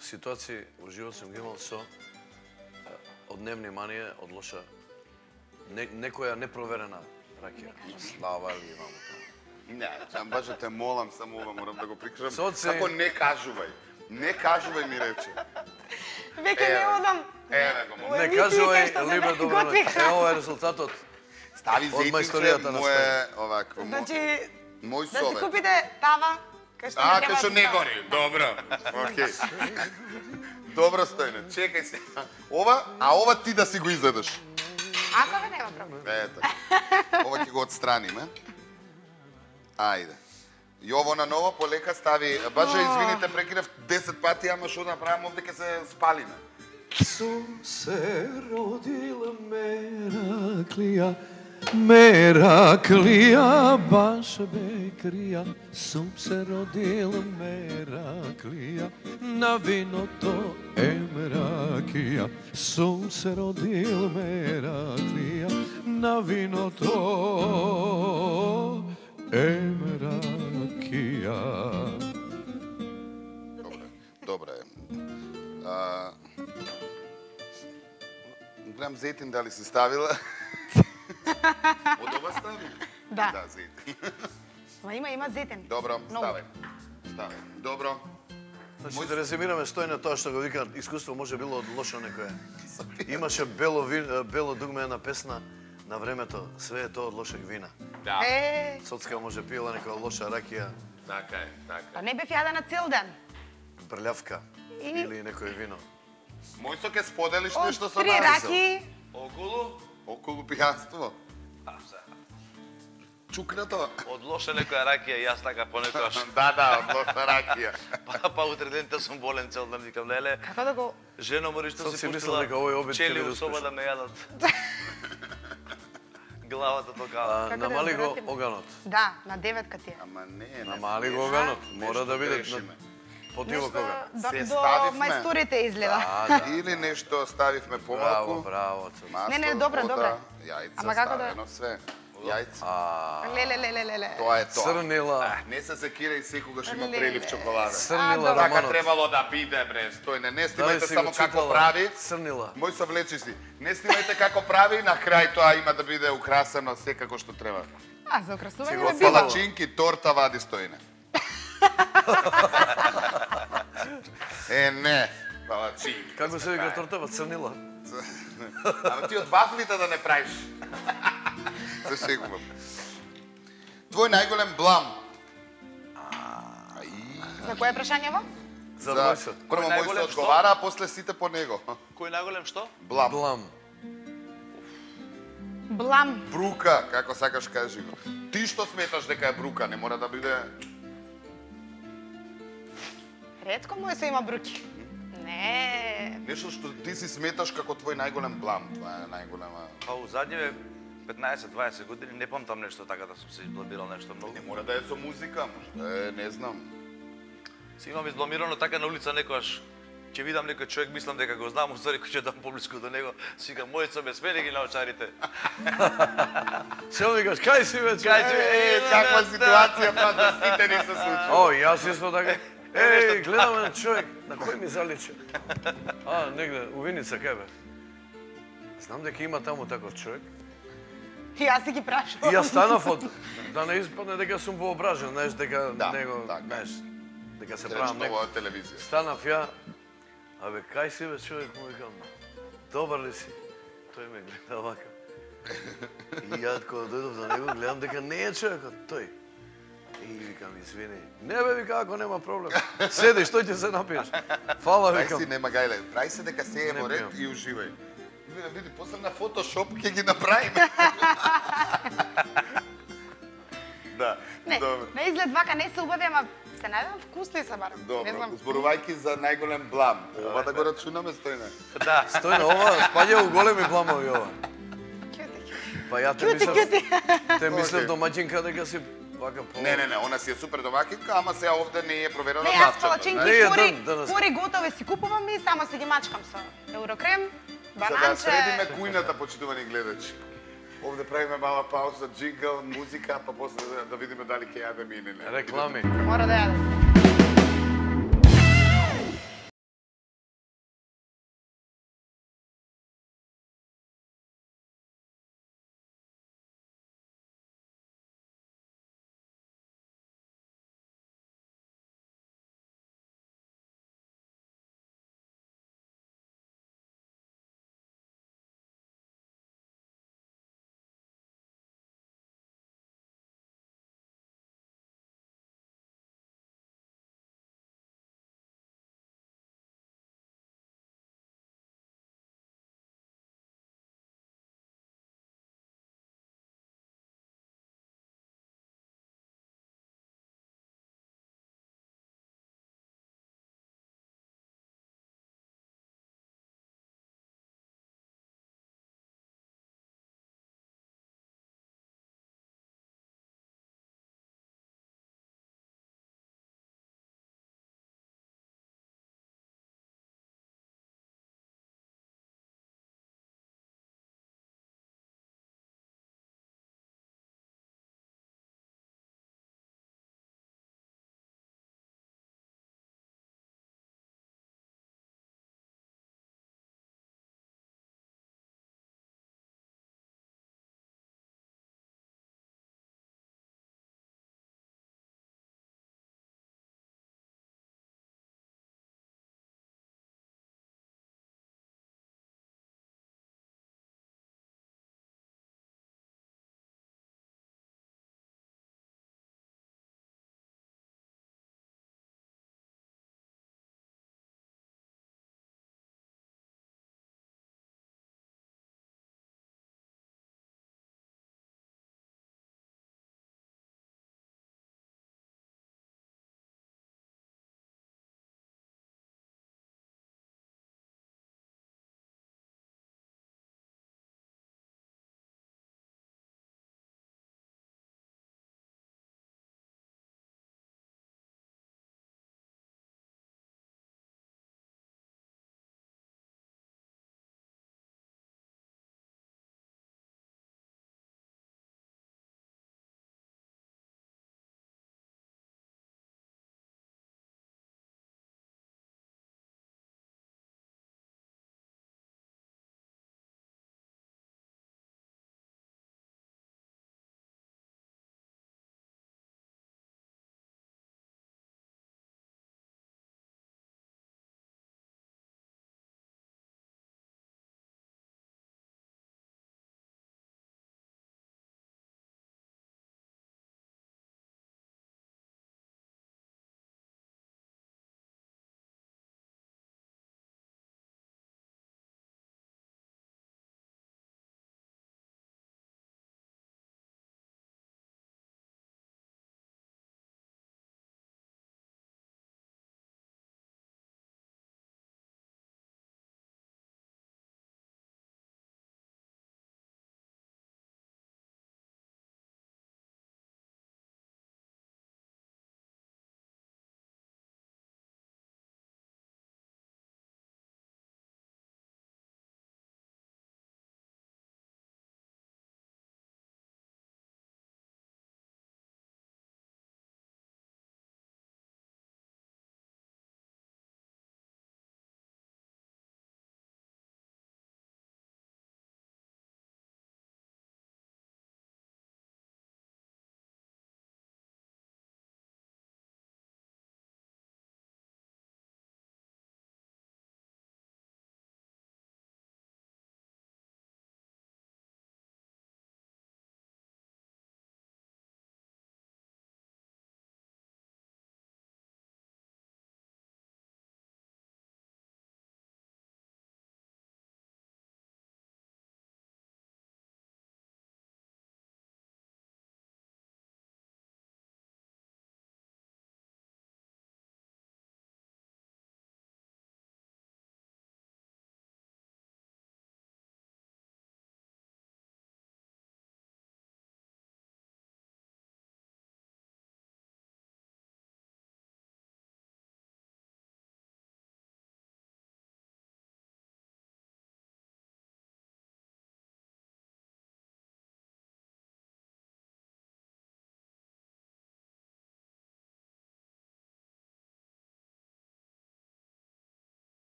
ситуации во живот сум ги имал со е, од невнимание, од лоша не, некоја непроверена ракија. Слава ли вам. Не, сам Баже те молам, само ова морам да го прикажам. Соци. Како не кажувај. Не кажувај ми рече. Веќе не Еве. одам. Еве го, молам. Не емисии кај кажувај, што се Либе, не добро готви ноќ. Ево е резултатот. Стави Од зетинче, мајсторијата на мое, овакво, мо- Значи, мој да си совет. купите тава, кај што А, не кај што треба не да става. гори. Добро. Океј. Добро, Стојне. Чекај се. Ова, а ова ти да си го изедеш. Ако бе, нема проблем. Ето. Ова ќе го отстраниме. Ајде. Јовона ново полека стави. Баже, извините, прекинав десет пати, ама што направам овде ќе се спалиме. Сум се родила Мераклија, Мераклија, баш бекрија. Сум се родила Мераклија, на виното е ракија. Сум се родила Мераклија, на виното em rakija. Добре, добре. А, гледам зетин дали си ставила. Од ова стави? Да. Да, зетин. Ма има, има зетен. Добро, Многу. ставај. Ставај. Добро. Значи да резимираме Стојна тоа што го вика искуство може било од лошо некое. Имаше бело вин, бело дугме една песна на времето, све е тоа од лошeg вина. Да, Е, Соцка може пила некоја лоша ракија, така е, така па е. не бев јадена цел ден. брљавка И- или некој вино. Мојсо ке споделиш Од нешто со три нас. раки, Околу, Околу пијанство. а, се, Чукнато. од лоша некоја ракија, јас така понекогаш. Да, да, од лоша ракија. Па, па утре денте сум болен цел ден, викам, леле, како да го... жено мори што Сад си си мислел пуштила дека овој обид ќе чели биде у соба успешен. да ме јадат. Главата токава. А, Како да намали го разбератиме? оганот. Да, на деветка ти е. Ама не, не. Намали го нешто- оганот. нешто Мора да биде грешиме. на потиво кога. до, Се до ставивме. мајсторите изгледа. А, да. Или нешто ставивме Браво, помалку. браво. Цоц. Масло, Не, не, добро, вода, добро. Јајца, Ама како да- ставено све. Јајца. А, Леле, леле, леле. Тоа е тоа. црнила. Не се секира и секогаш има Леле. прелив чоколада. Црнила добро. Така романот. требало да биде, бре, стој, не, не Дали снимајте си само го како читала? прави. Црнила. Мој се влечи си. Не снимајте како прави, на крај тоа има да биде украсено секако што треба. А, за украсување Си не го било. фала- Палачинки, торта вади Стојне. Е, не, палачинки. Како се вика тортава црнила? Ама ти од вафлите да не правиш. Се шегувам. Твој најголем блам. Ај. За кое прашањево? За За мојсот. прво Кој мој се најголем одговара, а после сите по него. Кој најголем што? Блам. Блам. Блам. Брука, како сакаш кажи го. Ти што сметаш дека е брука, не мора да биде... Ретко мој се има бруки. Не. Нешто што ти си сметаш како твој најголем блам. Това е најголема... Па у задниве петнаесет-дваесет години не памтам нешто така да сум се избламирал нешто многу. Не мора да е со музика, може да е, не знам. Си имам избламирано така на улица некојаш. Ќе видам некој човек, мислам дека го знам, устари кој ќе дам поблиску до него, си викам мој со ме смени ги научарите. Се викаш, кај си веќе? Кај си, Е, каква ситуација тоа за сите ни се случи. О, јас исто така. Еј, гледам еден човек, на кој ми заличи? А, негде, у Виница, кај бе? Знам дека има таму таков човек. И јас си ги прашувам. И јас станав од, да не испадне дека сум воображен, знаеш, дека Да, него, така. знаеш, дека се Рече правам тоа некој. од телевизија. Станав ја, абе, кај си бе човек, му викам, добар ли си? Тој ме гледа вака. И ја кога дојдов до него, гледам дека не е човекот, тој. И викам, извини. Не бе, вика, ако нема проблем. Седи, што ќе се напиеш? Фала, Прај викам. си, нема гајле. Прај се дека се е Не во ред пијам. и уживај. Види, види, после на фотошоп ќе ги направиме. Да, Не, добро. на изглед вака не се убави, ама се најдам вкусни се барам. Не Добро, знам. зборувајќи за најголем блам. Ова да го рачунаме, Стојне. Да. Стој на ова, спаѓа у големи бламови ова. Кјути, кјути. Па ја те Кјути, мислев, кјути. те мислев Окей. домаќинка дека си вака по... Не, не, не, она си е супер домакинка, ама сега овде не е проверено Не, јас завчето. палачинки Не, ја пори, дам денес. пори готови си купувам и само си ги мачкам со еврокрем, За да бананче. средиме кујната, почитувани гледачи. Овде правиме мала пауза, джингл, музика, па после да, да видиме дали ќе јадеме или не. Реклами. Мора да јадам.